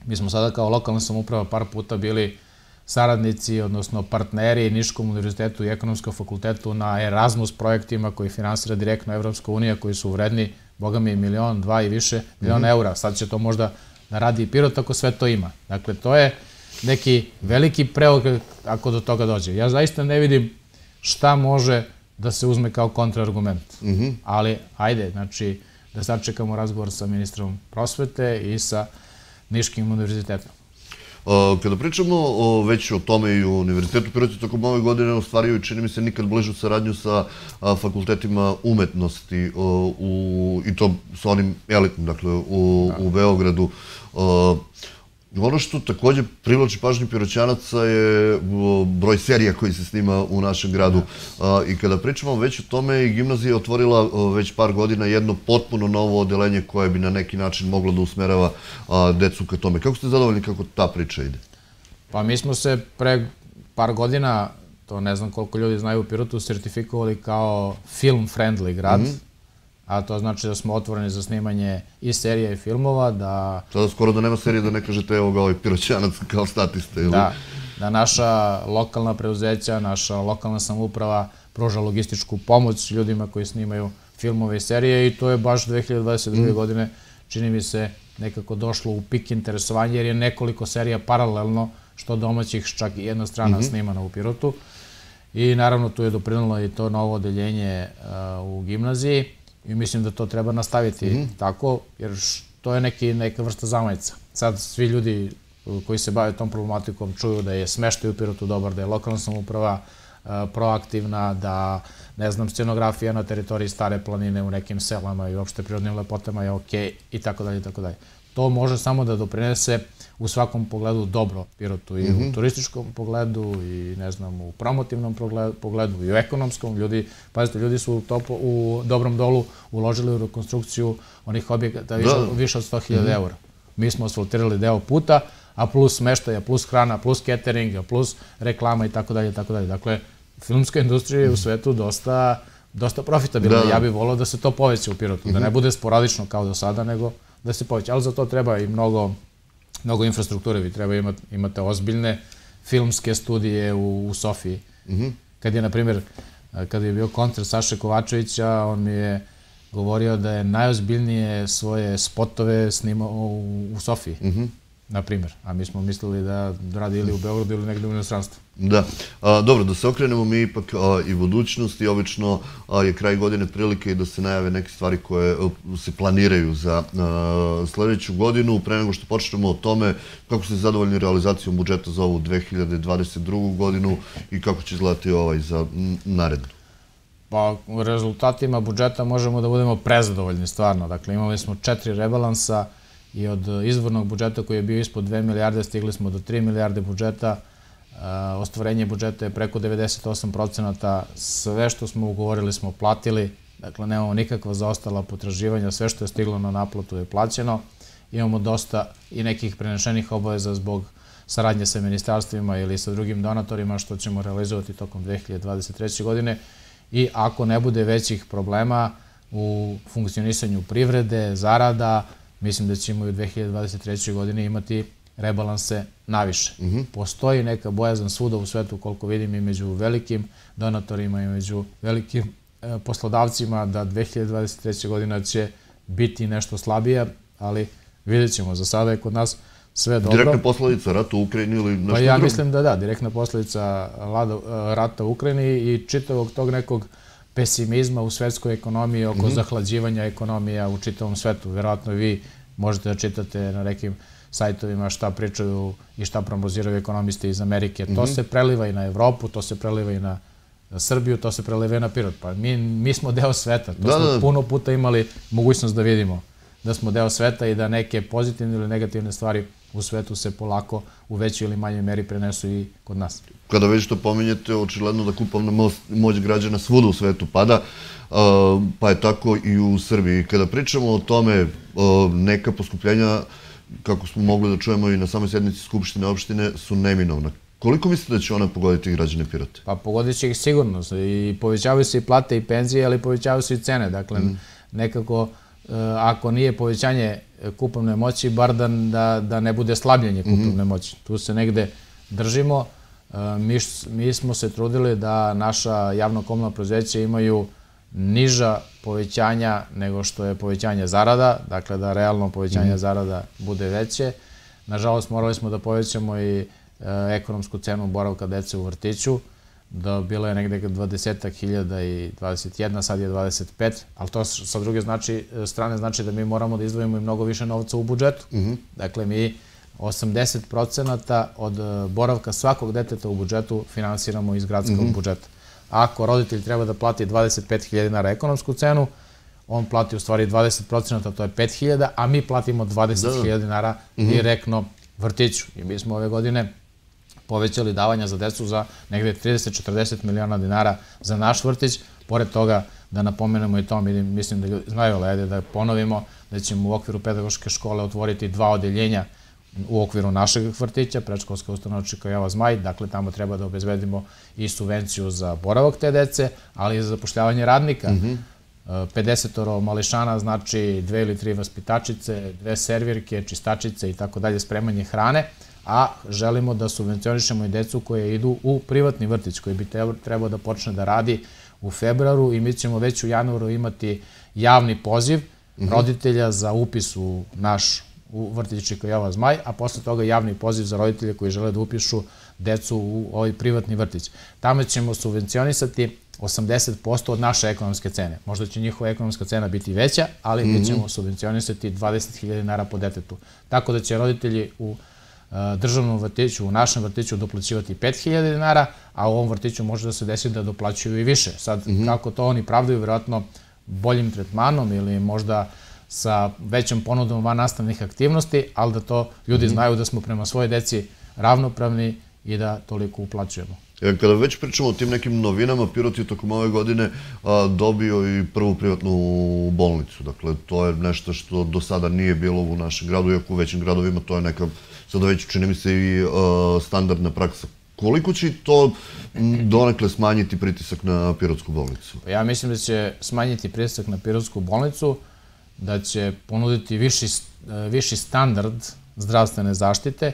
Mi smo sada kao lokalna samouprava par puta bili saradnici, odnosno partneri Niškom univerzitetu i ekonomskom fakultetu na Erasmus projektima koji finansira direktno Evropska unija, koji su vredni, boga mi, milion, dva i više miliona eura. Sad će to možda da radi i Pirot ako sve to ima. Dakle, to je neki veliki preokret ako do toga dođe. Ja zaista ne vidim šta može da se uzme kao kontraargument. Ali, ajde, znači, da sačekamo razgovor sa ministrom prosvete i sa Niškim univerzitetom. Kada pričamo već o tome i u Univerzitetu Pirot je tokom ove godine ostvario i čini mi se nikad bližu saradnju sa fakultetima umetnosti i to sa onim elitnim, dakle, u Beogradu. Ono što takođe privlači pažnju Piroćanaca je broj serija koji se snima u našem gradu. I kada pričamo već o tome, i gimnazija je otvorila već par godina jedno potpuno novo odelenje koje bi na neki način moglo da usmerava decu ka tome. Kako ste zadovoljni kako ta priča ide? Pa mi smo se pre par godina to ne znam koliko ljudi znaju u Pirotu, sertifikovali kao film friendly grad, a to znači da smo otvoreni za snimanje i serija i filmova, da... Sada skoro da nema serije da ne kažete evo ga ovaj Piroćanac kao statiste, ili? Da, da naša lokalna preuzeća, naša lokalna samouprava pruža logističku pomoć ljudima koji snimaju filmove i serije i to je baš dve hiljade dvadeset druge. godine, čini mi se, nekako došlo u pik interesovanja jer je nekoliko serija paralelno, što domaćih, čak i jedna strana snimana u Pirotu. I naravno tu je doprinalo i to novo odeljenje u gimnaziji i mislim da to treba nastaviti tako, jer to je neka vrsta zamajca. Sad svi ljudi koji se bave tom problematikom čuju da je smeštaj u Pirotu dobar, da je lokalna samouprava proaktivna, da, ne znam, scenografija na teritoriji Stare planine u nekim selama i uopšte prirodnim lepotama je okej i tako dalje i tako dalje. To može samo da doprinese u svakom pogledu dobro Pirotu, i u turističkom pogledu, i ne znam, u promotivnom pogledu, i u ekonomskom. Ljudi, pazite, ljudi su u Dobrom Dolu uložili u rekonstrukciju onih objekata više od sto hiljada eura. Mi smo asfaltirali deo puta, a plus smeštaja, plus hrana, plus cateringa, plus reklama i tako dalje i tako dalje. Dakle, filmska industrija je u svetu dosta dosta profitabilna. Ja bih volao da se to poveća u Pirotu, da ne bude sporadično kao do sada, nego da se poveća. Ali za to treba i mnogo mnogo infrastrukture. Vi treba imate ozbiljne filmske studije u Sofiji. Kad je, na primjer, kad je bio koncert Saše Kovačevića, on mi je govorio da je najozbiljnije svoje spotove snimao u Sofiji, na primjer. A mi smo mislili da radi ili u Beogradu ili negde u inostranstvu. Da. Dobro, da se okrenemo mi ipak i budućnosti. Obično je kraj godine prilike i da se najave neke stvari koje se planiraju za sledeću godinu. Pre nego što počnemo o tome, kako ste zadovoljni realizacijom budžeta za ovu dve hiljade dvadeset drugu. godinu i kako će izgledati ovaj za narednu? Pa, u rezultatima budžeta možemo da budemo prezadovoljni, stvarno. Dakle, imali smo četiri rebalansa i od izvornog budžeta koji je bio ispod dve milijarde stigli smo do tri milijarde budžeta. Ostvarenje budžeta je preko devedeset osam procenata. Sve što smo ugovorili smo platili. Dakle, nemamo nikakva zaostala potraživanja. Sve što je stiglo na naplatu je plaćeno. Imamo dosta i nekih prenešenih obaveza zbog saradnje sa ministarstvima ili sa drugim donatorima, što ćemo realizovati tokom dve hiljade dvadeset treće. godine. I ako ne bude većih problema u funkcionisanju privrede, zarada, mislim da ćemo i u dve hiljade dvadeset trećoj. godini imati rebalanse naviše. Postoji neka bojazan svuda u svetu, koliko vidim, i među velikim donatorima i među velikim poslodavcima, da dve hiljade dvadeset treća. godina će biti nešto slabija, ali vidjet ćemo. Za sada je kod nas sve dobro. Direktna posledica rata u Ukrajini ili nešto drugo? Pa ja mislim da da, direktna posledica rata u Ukrajini i čitavog tog nekog pesimizma u svetskoj ekonomiji oko zahlađivanja ekonomija u čitavom svetu. Verovatno vi možete da čitate na nekim sajtovima šta pričaju i šta prognoziraju ekonomisti iz Amerike. To se preliva i na Evropu, to se preliva i na Srbiju, to se preliva i na Pirot. Pa mi smo deo sveta. To smo puno puta imali mogućnost da vidimo da smo deo sveta i da neke pozitivne ili negativne stvari u svetu se polako u većoj ili manjoj meri prenesu i kod nas. Kada već to pominjete, očigledno da kupovna moć građana svuda u svetu pada, pa je tako i u Srbiji. Kada pričamo o tome, neka poskupljenja, kako smo mogli da čujemo i na samoj sednici Skupštine opštine, su neminovna. Koliko mislite da će ona pogoditi građane Pirota? Pa pogodit će ih sigurno. I povećavaju se i plate i penzije, ali povećavaju se i cene. Dakle, nekako, ako nije povećanje kupovne moći, bar da ne bude slabljenje kupovne moći. Tu se negde držimo. Mi smo se trudili da naša javno-komunalna preduzeća imaju niža povećanja nego što je povećanje zarada, dakle da realno povećanje zarada bude veće. Nažalost, morali smo da povećamo i ekonomsku cenu boravka dece u vrtiću. Bilo je negde dvadesetak hiljada i dvadeset jedna, sad je dvadeset pet, ali to sa druge strane znači da mi moramo da izdvojimo i mnogo više novca u budžetu. Dakle, mi osamdeset procenata od boravka svakog deteta u budžetu finansiramo iz gradskog budžeta. Ako roditelj treba da plati dvadeset pet hiljada dinara ekonomsku cenu, on plati u stvari dvadeset procenata, to je pet hiljada, a mi platimo dvadeset hiljada dinara direktno vrtiću. I mi smo ove godine povećali davanja za decu za negde trideset do četrdeset miliona dinara za naš vrtić. Pored toga, da napomenemo i to, mislim da ljudi znaju, ali ajde da ponovimo, da ćemo u okviru pedagoške škole otvoriti dva odeljenja u okviru našeg vrtića, predškolska ustanova Čikojava Zmaj, dakle tamo treba da obezbedimo i subvenciju za boravak te dece, ali i za zapošljavanje radnika. pedesetoro mališana znači dve ili tri vaspitačice, dve servirke, čistačice i tako dalje, spremanje hrane, a želimo da subvencionišemo i decu koje idu u privatni vrtić, koji bi trebao da počne da radi u februaru i mi ćemo već u januaru imati javni poziv roditelja za upis u naš u vrtić Čikojava Zmaj, a posle toga javni poziv za roditelje koji žele da upišu decu u ovaj privatni vrtić. Tamo ćemo subvencionisati osamdeset posto od naše ekonomske cene. Možda će njihova ekonomska cena biti veća, ali mi ćemo subvencionisati dvadeset hiljada dinara po detetu. Tako da će roditelji u državnom vrtiću, u našem vrtiću doplaćivati pet hiljada dinara, a u ovom vrtiću može da se desi da doplaćuju i više. Sad, kako to oni pravdaju, vjerojatno boljim tretmanom ili možda sa većom ponudom van nastavnih aktivnosti, ali da to ljudi znaju da smo prema svojoj deci ravnopravni i da toliko uplaćujemo. Kada već pričamo o tim nekim novinama, Pirot je tokom ove godine dobio i prvu privatnu bolnicu. Dakle, to je nešto što do sada nije bilo u našem gradu, iako u većim gradovima to je neka, sada već čini mi se i standardna praksa. Koliko će to donekle smanjiti pritisak na Pirotsku bolnicu? Ja mislim da će smanjiti pritisak na Pirotsku bolnicu, da će ponuditi viši standard zdravstvene zaštite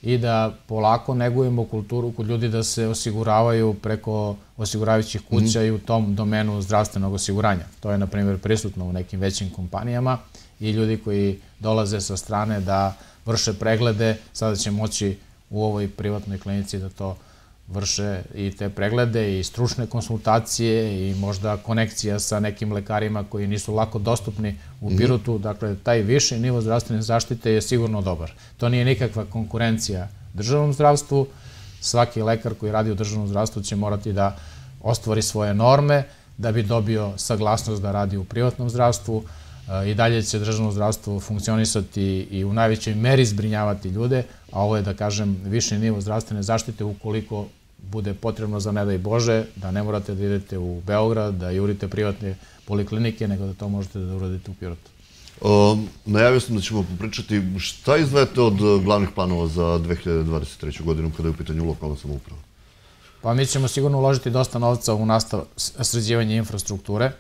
i da polako negujemo kulturu kod ljudi da se osiguravaju preko osiguravajućih kuća i u tom domenu zdravstvenog osiguranja. To je, na primjer, prisutno u nekim većim kompanijama i ljudi koji dolaze sa strane da vrše preglede, sada će moći u ovoj privatnoj klinici da to vrše i te preglede i stručne konsultacije i možda konekcija sa nekim lekarima koji nisu lako dostupni u Pirotu. Dakle, taj viši nivo zdravstvene zaštite je sigurno dobar. To nije nikakva konkurencija državnom zdravstvu. Svaki lekar koji radi u državnom zdravstvu će morati da ostvari svoje norme da bi dobio saglasnost da radi u privatnom zdravstvu. I dalje će državno zdravstvo funkcionisati i u najvećoj meri zbrinjavati ljude, a ovo je, da kažem, viši nivo zdravstvene zaštite ukoliko bude potrebno, za ne daj Bože, da ne morate da idete u Beograd, da jurite privatne poliklinike, nego da to možete da uradite u Pirotu. Najavio sam da ćemo popričati šta izdvajate od glavnih planova za dve hiljade dvadeset treću godinu kada je u pitanju lokalna samouprava? Pa mi ćemo sigurno uložiti dosta novca u nastav sređivanje infrastrukture.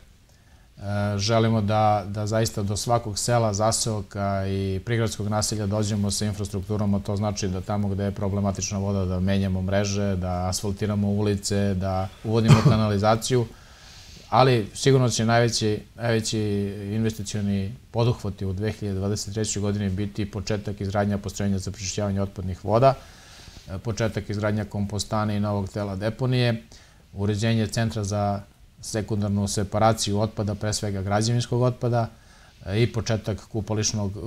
Želimo da zaista do svakog sela, zaseoka i prigradskog naselja dođemo sa infrastrukturom, a to znači da tamo gde je problematična voda da menjamo mreže, da asfaltiramo ulice, da uvodimo kanalizaciju, ali sigurno će najveći investicioni poduhvati u dve hiljade dvadeset trećoj godini biti početak izgradnja postrojenja za prečišćavanje otpadnih voda, početak izgradnja kompostane i novog tela deponije, uređenje centra za sekundarnu separaciju otpada, pre svega građevinskog otpada, i početak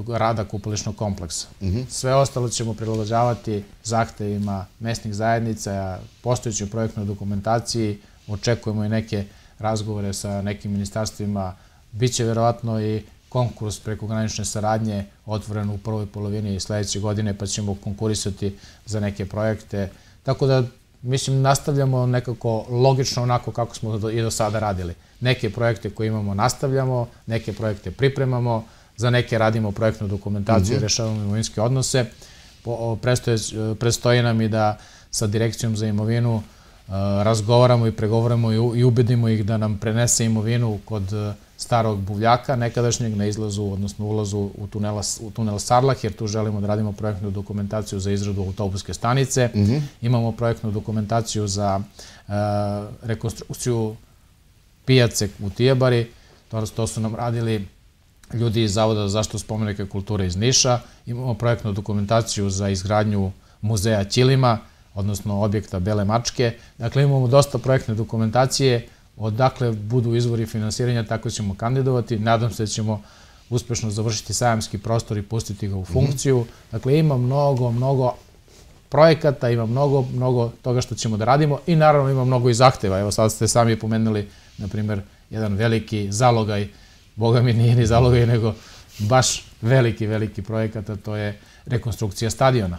rada kupališnog kompleksa. Sve ostalo ćemo prilagođavati zahtevima mesnih zajednica, postojećoj projektnoj dokumentaciji, očekujemo i neke razgovore sa nekim ministarstvima, bit će verovatno i konkurs prekogranične saradnje otvoren u prvoj polovini sledeće godine, pa ćemo konkurisati za neke projekte. Tako da, mislim, nastavljamo nekako logično onako kako smo i do sada radili. Neke projekte koje imamo nastavljamo, neke projekte pripremamo, za neke radimo projektnu dokumentaciju i rešavamo imovinske odnose. Predstoji nam i da sa Direkcijom za imovinu razgovaramo i pregovaramo i ubedimo ih da nam prenese imovinu kod starog buvljaka nekadašnjeg na izlazu, odnosno ulazu u tunel Sarlah, jer tu želimo da radimo projektnu dokumentaciju za izradu autobuske stanice. Imamo projektnu dokumentaciju za rekonstrukciju pijace u Tijabari. To su nam radili ljudi iz Zavoda za zaštitu spomenika kulture iz Niša. Imamo projektnu dokumentaciju za izgradnju muzeja Ćilima, odnosno objekta Bele mačke. Dakle, imamo dosta projektne dokumentacije. Odakle budu izvori finansiranja, tako ćemo kandidovati. Nadam se da ćemo uspešno završiti sajamski prostor i pustiti ga u funkciju. Dakle, ima mnogo, mnogo projekata, ima mnogo, mnogo toga što ćemo da radimo i naravno ima mnogo i zahteva. Evo sad ste sami pomenuli, na primjer, jedan veliki zalogaj, boga mi nije ni zalogaj, nego baš veliki, veliki projekat, a to je rekonstrukcija stadiona.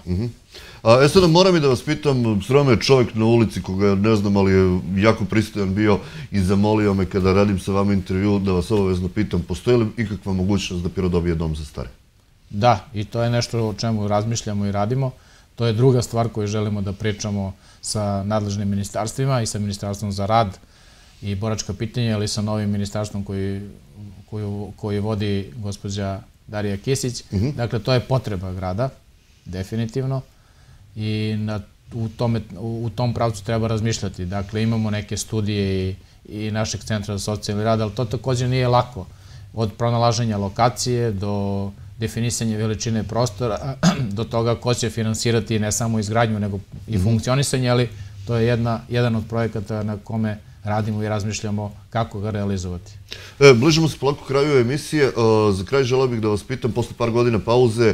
E sada moram i da vas pitam, sreo me čovjek na ulici koga ne znam, ali je jako pristojan bio i zamolio me kada radim sa vama intervju da vas obavezno pitam, postoji li ikakva mogućnost da Pirot dobije dom za stare? Da, i to je nešto o čemu razmišljamo i radimo. To je druga stvar koju želimo da pričamo sa nadležnim ministarstvima i sa Ministarstvom za rad i boračka pitanja, ali sa novim ministarstvom koji, koju, koji vodi gospođa Darija Kisić. Dakle, to je potreba grada, definitivno, i na, u, tome, u tom pravcu treba razmišljati. Dakle, imamo neke studije i, i našeg centra za socijalni rad, ali to također nije lako. Od pronalaženja lokacije do definisanja veličine prostora, do toga ko će finansirati ne samo izgradnju, nego i funkcionisanje, ali to je jedna, jedan od projekata na kome radimo i razmišljamo kako ga realizovati. E, bližimo se polako kraju emisije. Za kraj želeo bih da vas pitam, posle par godina pauze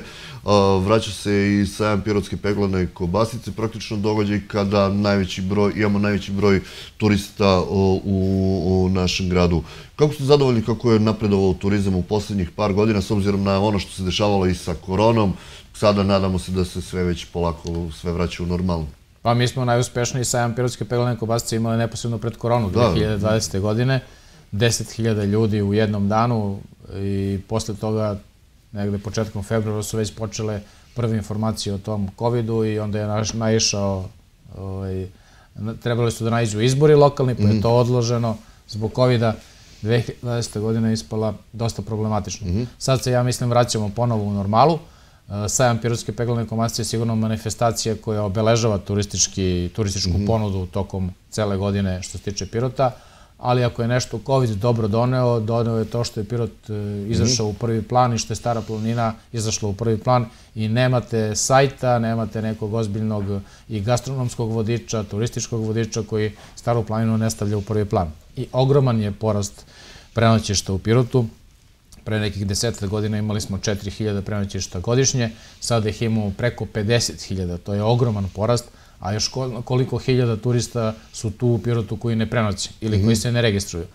vraća se i sajam pirotske peglane kobasice, praktično događaj kada najveći broj, imamo najveći broj turista u, u našem gradu. Kako ste zadovoljni kako je napredovao turizam u poslednjih par godina, s obzirom na ono što se dešavalo i sa koronom? Sada nadamo se da se sve već polako sve vraća u normalno. Pa mi smo najuspešniji sajam pirotske peglane kobasice imali neposredno pred koronu dve hiljade dvadesete. godine. deset hiljada ljudi u jednom danu i posle toga, negde početkom februara, su već počele prve informacije o tom covidu i onda je naišao, trebali su da naiđu izbori lokalni, pa je to odloženo zbog covida. dve hiljade dvadesete. godina je ispala dosta problematično. Sad se, ja mislim, vraćamo ponovo u normalu. Sajam pirotske peglane kobasice je sigurno manifestacija koja obeležava turističku ponudu tokom cele godine što se tiče Pirota, ali ako je nešto COVID dobro doneo, doneo je to što je Pirot izašao u prvi plan i što je Stara planina izašla u prvi plan i nemate sajta, nemate nekog ozbiljnog i gastronomskog vodiča, turističkog vodiča koji Staru planinu ne stavlja u prvi plan. I ogroman je porast prenoćišta u Pirotu. Pre nekih desetak godina imali smo četiri hiljade prenoćišta godišnje, sada ih imamo preko pedeset hiljada, to je ogroman porast, a još koliko hiljada turista su tu u Pirotu koji ne prenoće ili koji se ne registruju.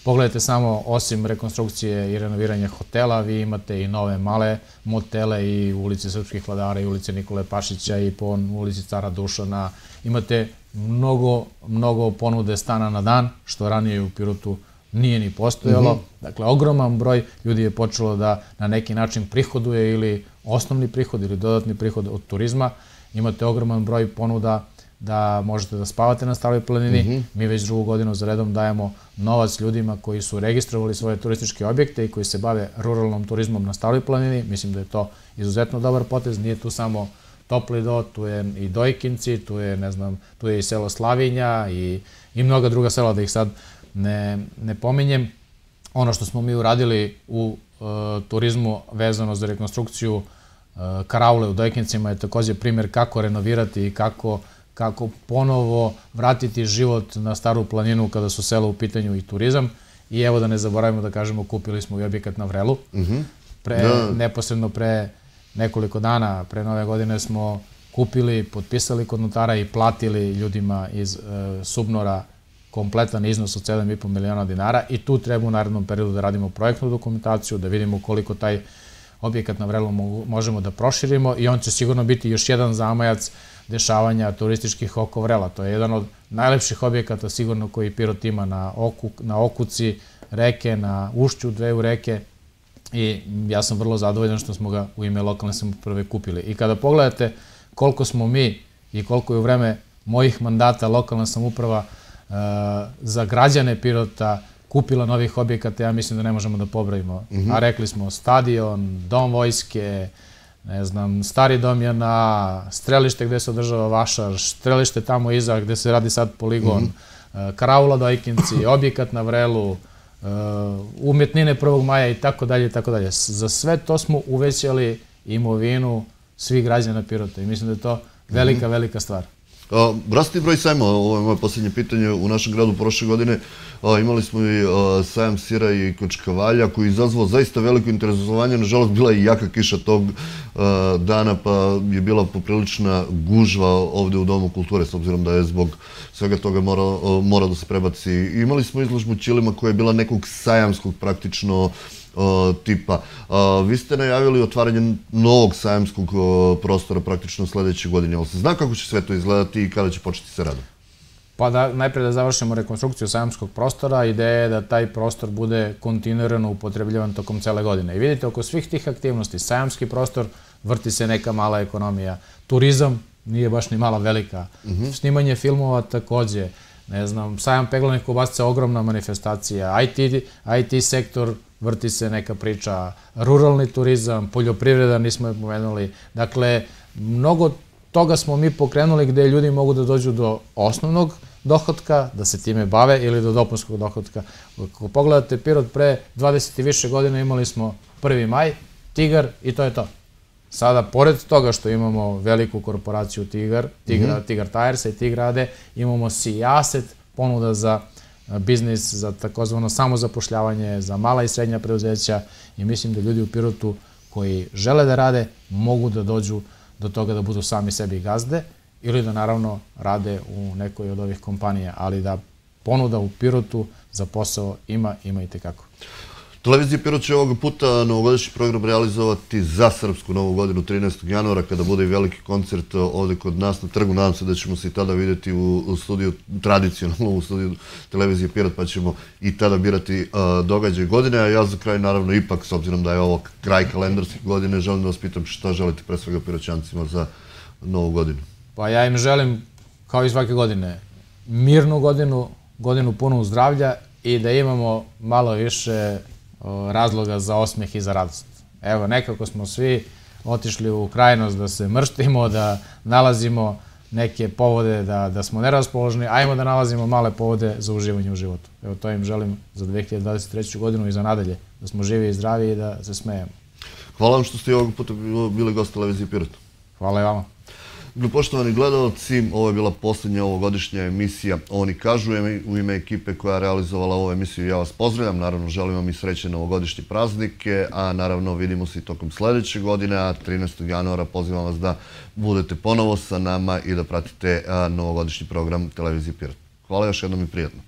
Pogledajte samo, osim rekonstrukcije i renoviranja hotela, vi imate i nove male motele i u ulici Srpskih vladara i ulici Nikole Pašića i po ulici Cara Dušana. Imate mnogo, mnogo ponude stana na dan, što ranije u Pirotu nije ni postojalo. Dakle, ogroman broj ljudi je počelo da na neki način prihoduje ili osnovni prihod ili dodatni prihod od turizma. Imate ogroman broj ponuda da možete da spavate na Staroj planini. Mi već drugu godinu za redom dajemo novac ljudima koji su registrovali svoje turističke objekte i koji se bave ruralnom turizmom na Staroj planini. Mislim da je to izuzetno dobar potez. Nije tu samo Topli Do, tu je i Dojkinci, tu je, ne znam, tu je i selo Slavinja i, i mnoga druga sela, da ih sad ne, ne pominjem. Ono što smo mi uradili u e, turizmu vezano za rekonstrukciju e, karaule u Dojkincima je također primjer kako renovirati i kako, kako ponovo vratiti život na Staru planinu kada su sela u pitanju i turizam. I evo da ne zaboravimo da kažemo, kupili smo i objekat na Vrelu. Pre, neposredno pre nekoliko dana, pre nove godine smo kupili, potpisali kod notara i platili ljudima iz e, Subnora kompletan iznos od sedam i po miliona dinara i tu treba u narednom periodu da radimo projektnu dokumentaciju, da vidimo koliko taj objekat na Vrelu možemo da proširimo i on će sigurno biti još jedan zamajac dešavanja turističkih oko Vrela. To je jedan od najlepših objekata sigurno koji Pirot ima na, oku, na okuci reke, na ušću dveju reke i ja sam vrlo zadovoljan što smo ga u ime lokalne samouprave kupili. I kada pogledate koliko smo mi i koliko je u vreme mojih mandata lokalna samouprava za građane Pirota kupila novih objekata, ja mislim da ne možemo da pobrojimo. A rekli smo stadion, dom vojske, ne znam, stari dom je na strelište gde se održava vašar, strelište tamo iza gde se radi sad poligon, karaula Dojkinci, objekat na Vrelu, umetnine prvog maja i tako dalje i tako dalje. Za sve to smo uvećali imovinu svih građana Pirota i mislim da je to velika, velika stvar. Rasti broj sajma, ovo je moje posljednje pitanje, u našem gradu prošle godine imali smo i sajam sira i kočkavalja koji je izazvao zaista veliko interesovanje. Nažalost, bila je i jaka kiša tog dana pa je bila poprilična gužva ovde u Domu kulture, s obzirom da je zbog svega toga mora da se prebaci. Imali smo izložbu ćilima koja je bila nekog sajamskog praktično tipa. Vi ste najavili otvaranje novog sajamskog prostora praktično sledeće godine, ali se zna kako će sve to izgledati i kada će početi sa radom? Pa da najpre da završimo rekonstrukciju sajamskog prostora, ideja je da taj prostor bude kontinuirano upotrebljivan tokom cele godine. I vidite, oko svih tih aktivnosti, sajamski prostor, vrti se neka mala ekonomija, turizam nije baš ni mala velika, snimanje filmova takođe, ne znam, sajam peglanih kobasica, ogromna manifestacija, I T sektor, vrti se neka priča, ruralni turizam, poljoprivreda, nismo je pomenuli. Dakle, mnogo toga smo mi pokrenuli gde ljudi mogu da dođu do osnovnog dohotka, da se time bave, ili do dopunskog dohotka. Ako pogledate Pirot pre dvadeset i više godina imali smo prvi maj, Tigar i to je to. Sada, pored toga što imamo veliku korporaciju Tigar, Tigar Tires i Tigrade, imamo Sijaset, ponuda za biznis, za takozvano samozapošljavanje, za mala i srednja preduzeća i mislim da ljudi u Pirotu koji žele da rade mogu da dođu do toga da budu sami sebi gazde ili da naravno rade u nekoj od ovih kompanija, ali da ponuda u Pirotu za posao ima, ima i tekako. Televizija Pirot će ovoga puta novogodišnji program realizovati za Srpsku novu godinu trinaestog januara, kada bude i veliki koncert ovde kod nas na trgu. Nadam se da ćemo se i tada vidjeti u studiju, tradicionalno u studiju televizije Pirot, pa ćemo i tada birati događaj godine. A ja za kraj, naravno, ipak, s obzirom da je ovo kraj kalendarske godine, želim da vas pitam šta želite pre svega Piroćancima za novu godinu. Pa ja im želim, kao i svake godine, mirnu godinu, godinu punu zdravlja i da imamo malo više razloga za osmeh i za radost. Evo, nekako smo svi otišli u krajnost da se mrštimo, da nalazimo neke povode da smo neraspoložni, ajmo da nalazimo male povode za uživanje u životu. Evo, to im želim za dve hiljade dvadeset treću godinu i za nadalje, da smo živi i zdravi i da se smejemo. Hvala vam što ste i ovog puta bili gost televizije Pirot. Hvala i vama. Poštovani gledalci, ovo je bila poslednja ovogodišnja emisija Oni kažu. U ime ekipe koja je realizovala ovu emisiju ja vas pozdravljam. Naravno, želim vam i srećne novogodišnje praznike, a naravno vidimo se i tokom sledeće godine, a trinaestog januara pozivam vas da budete ponovo sa nama i da pratite novogodišnji program televizije Pirot. Hvala još jednom i prijatno.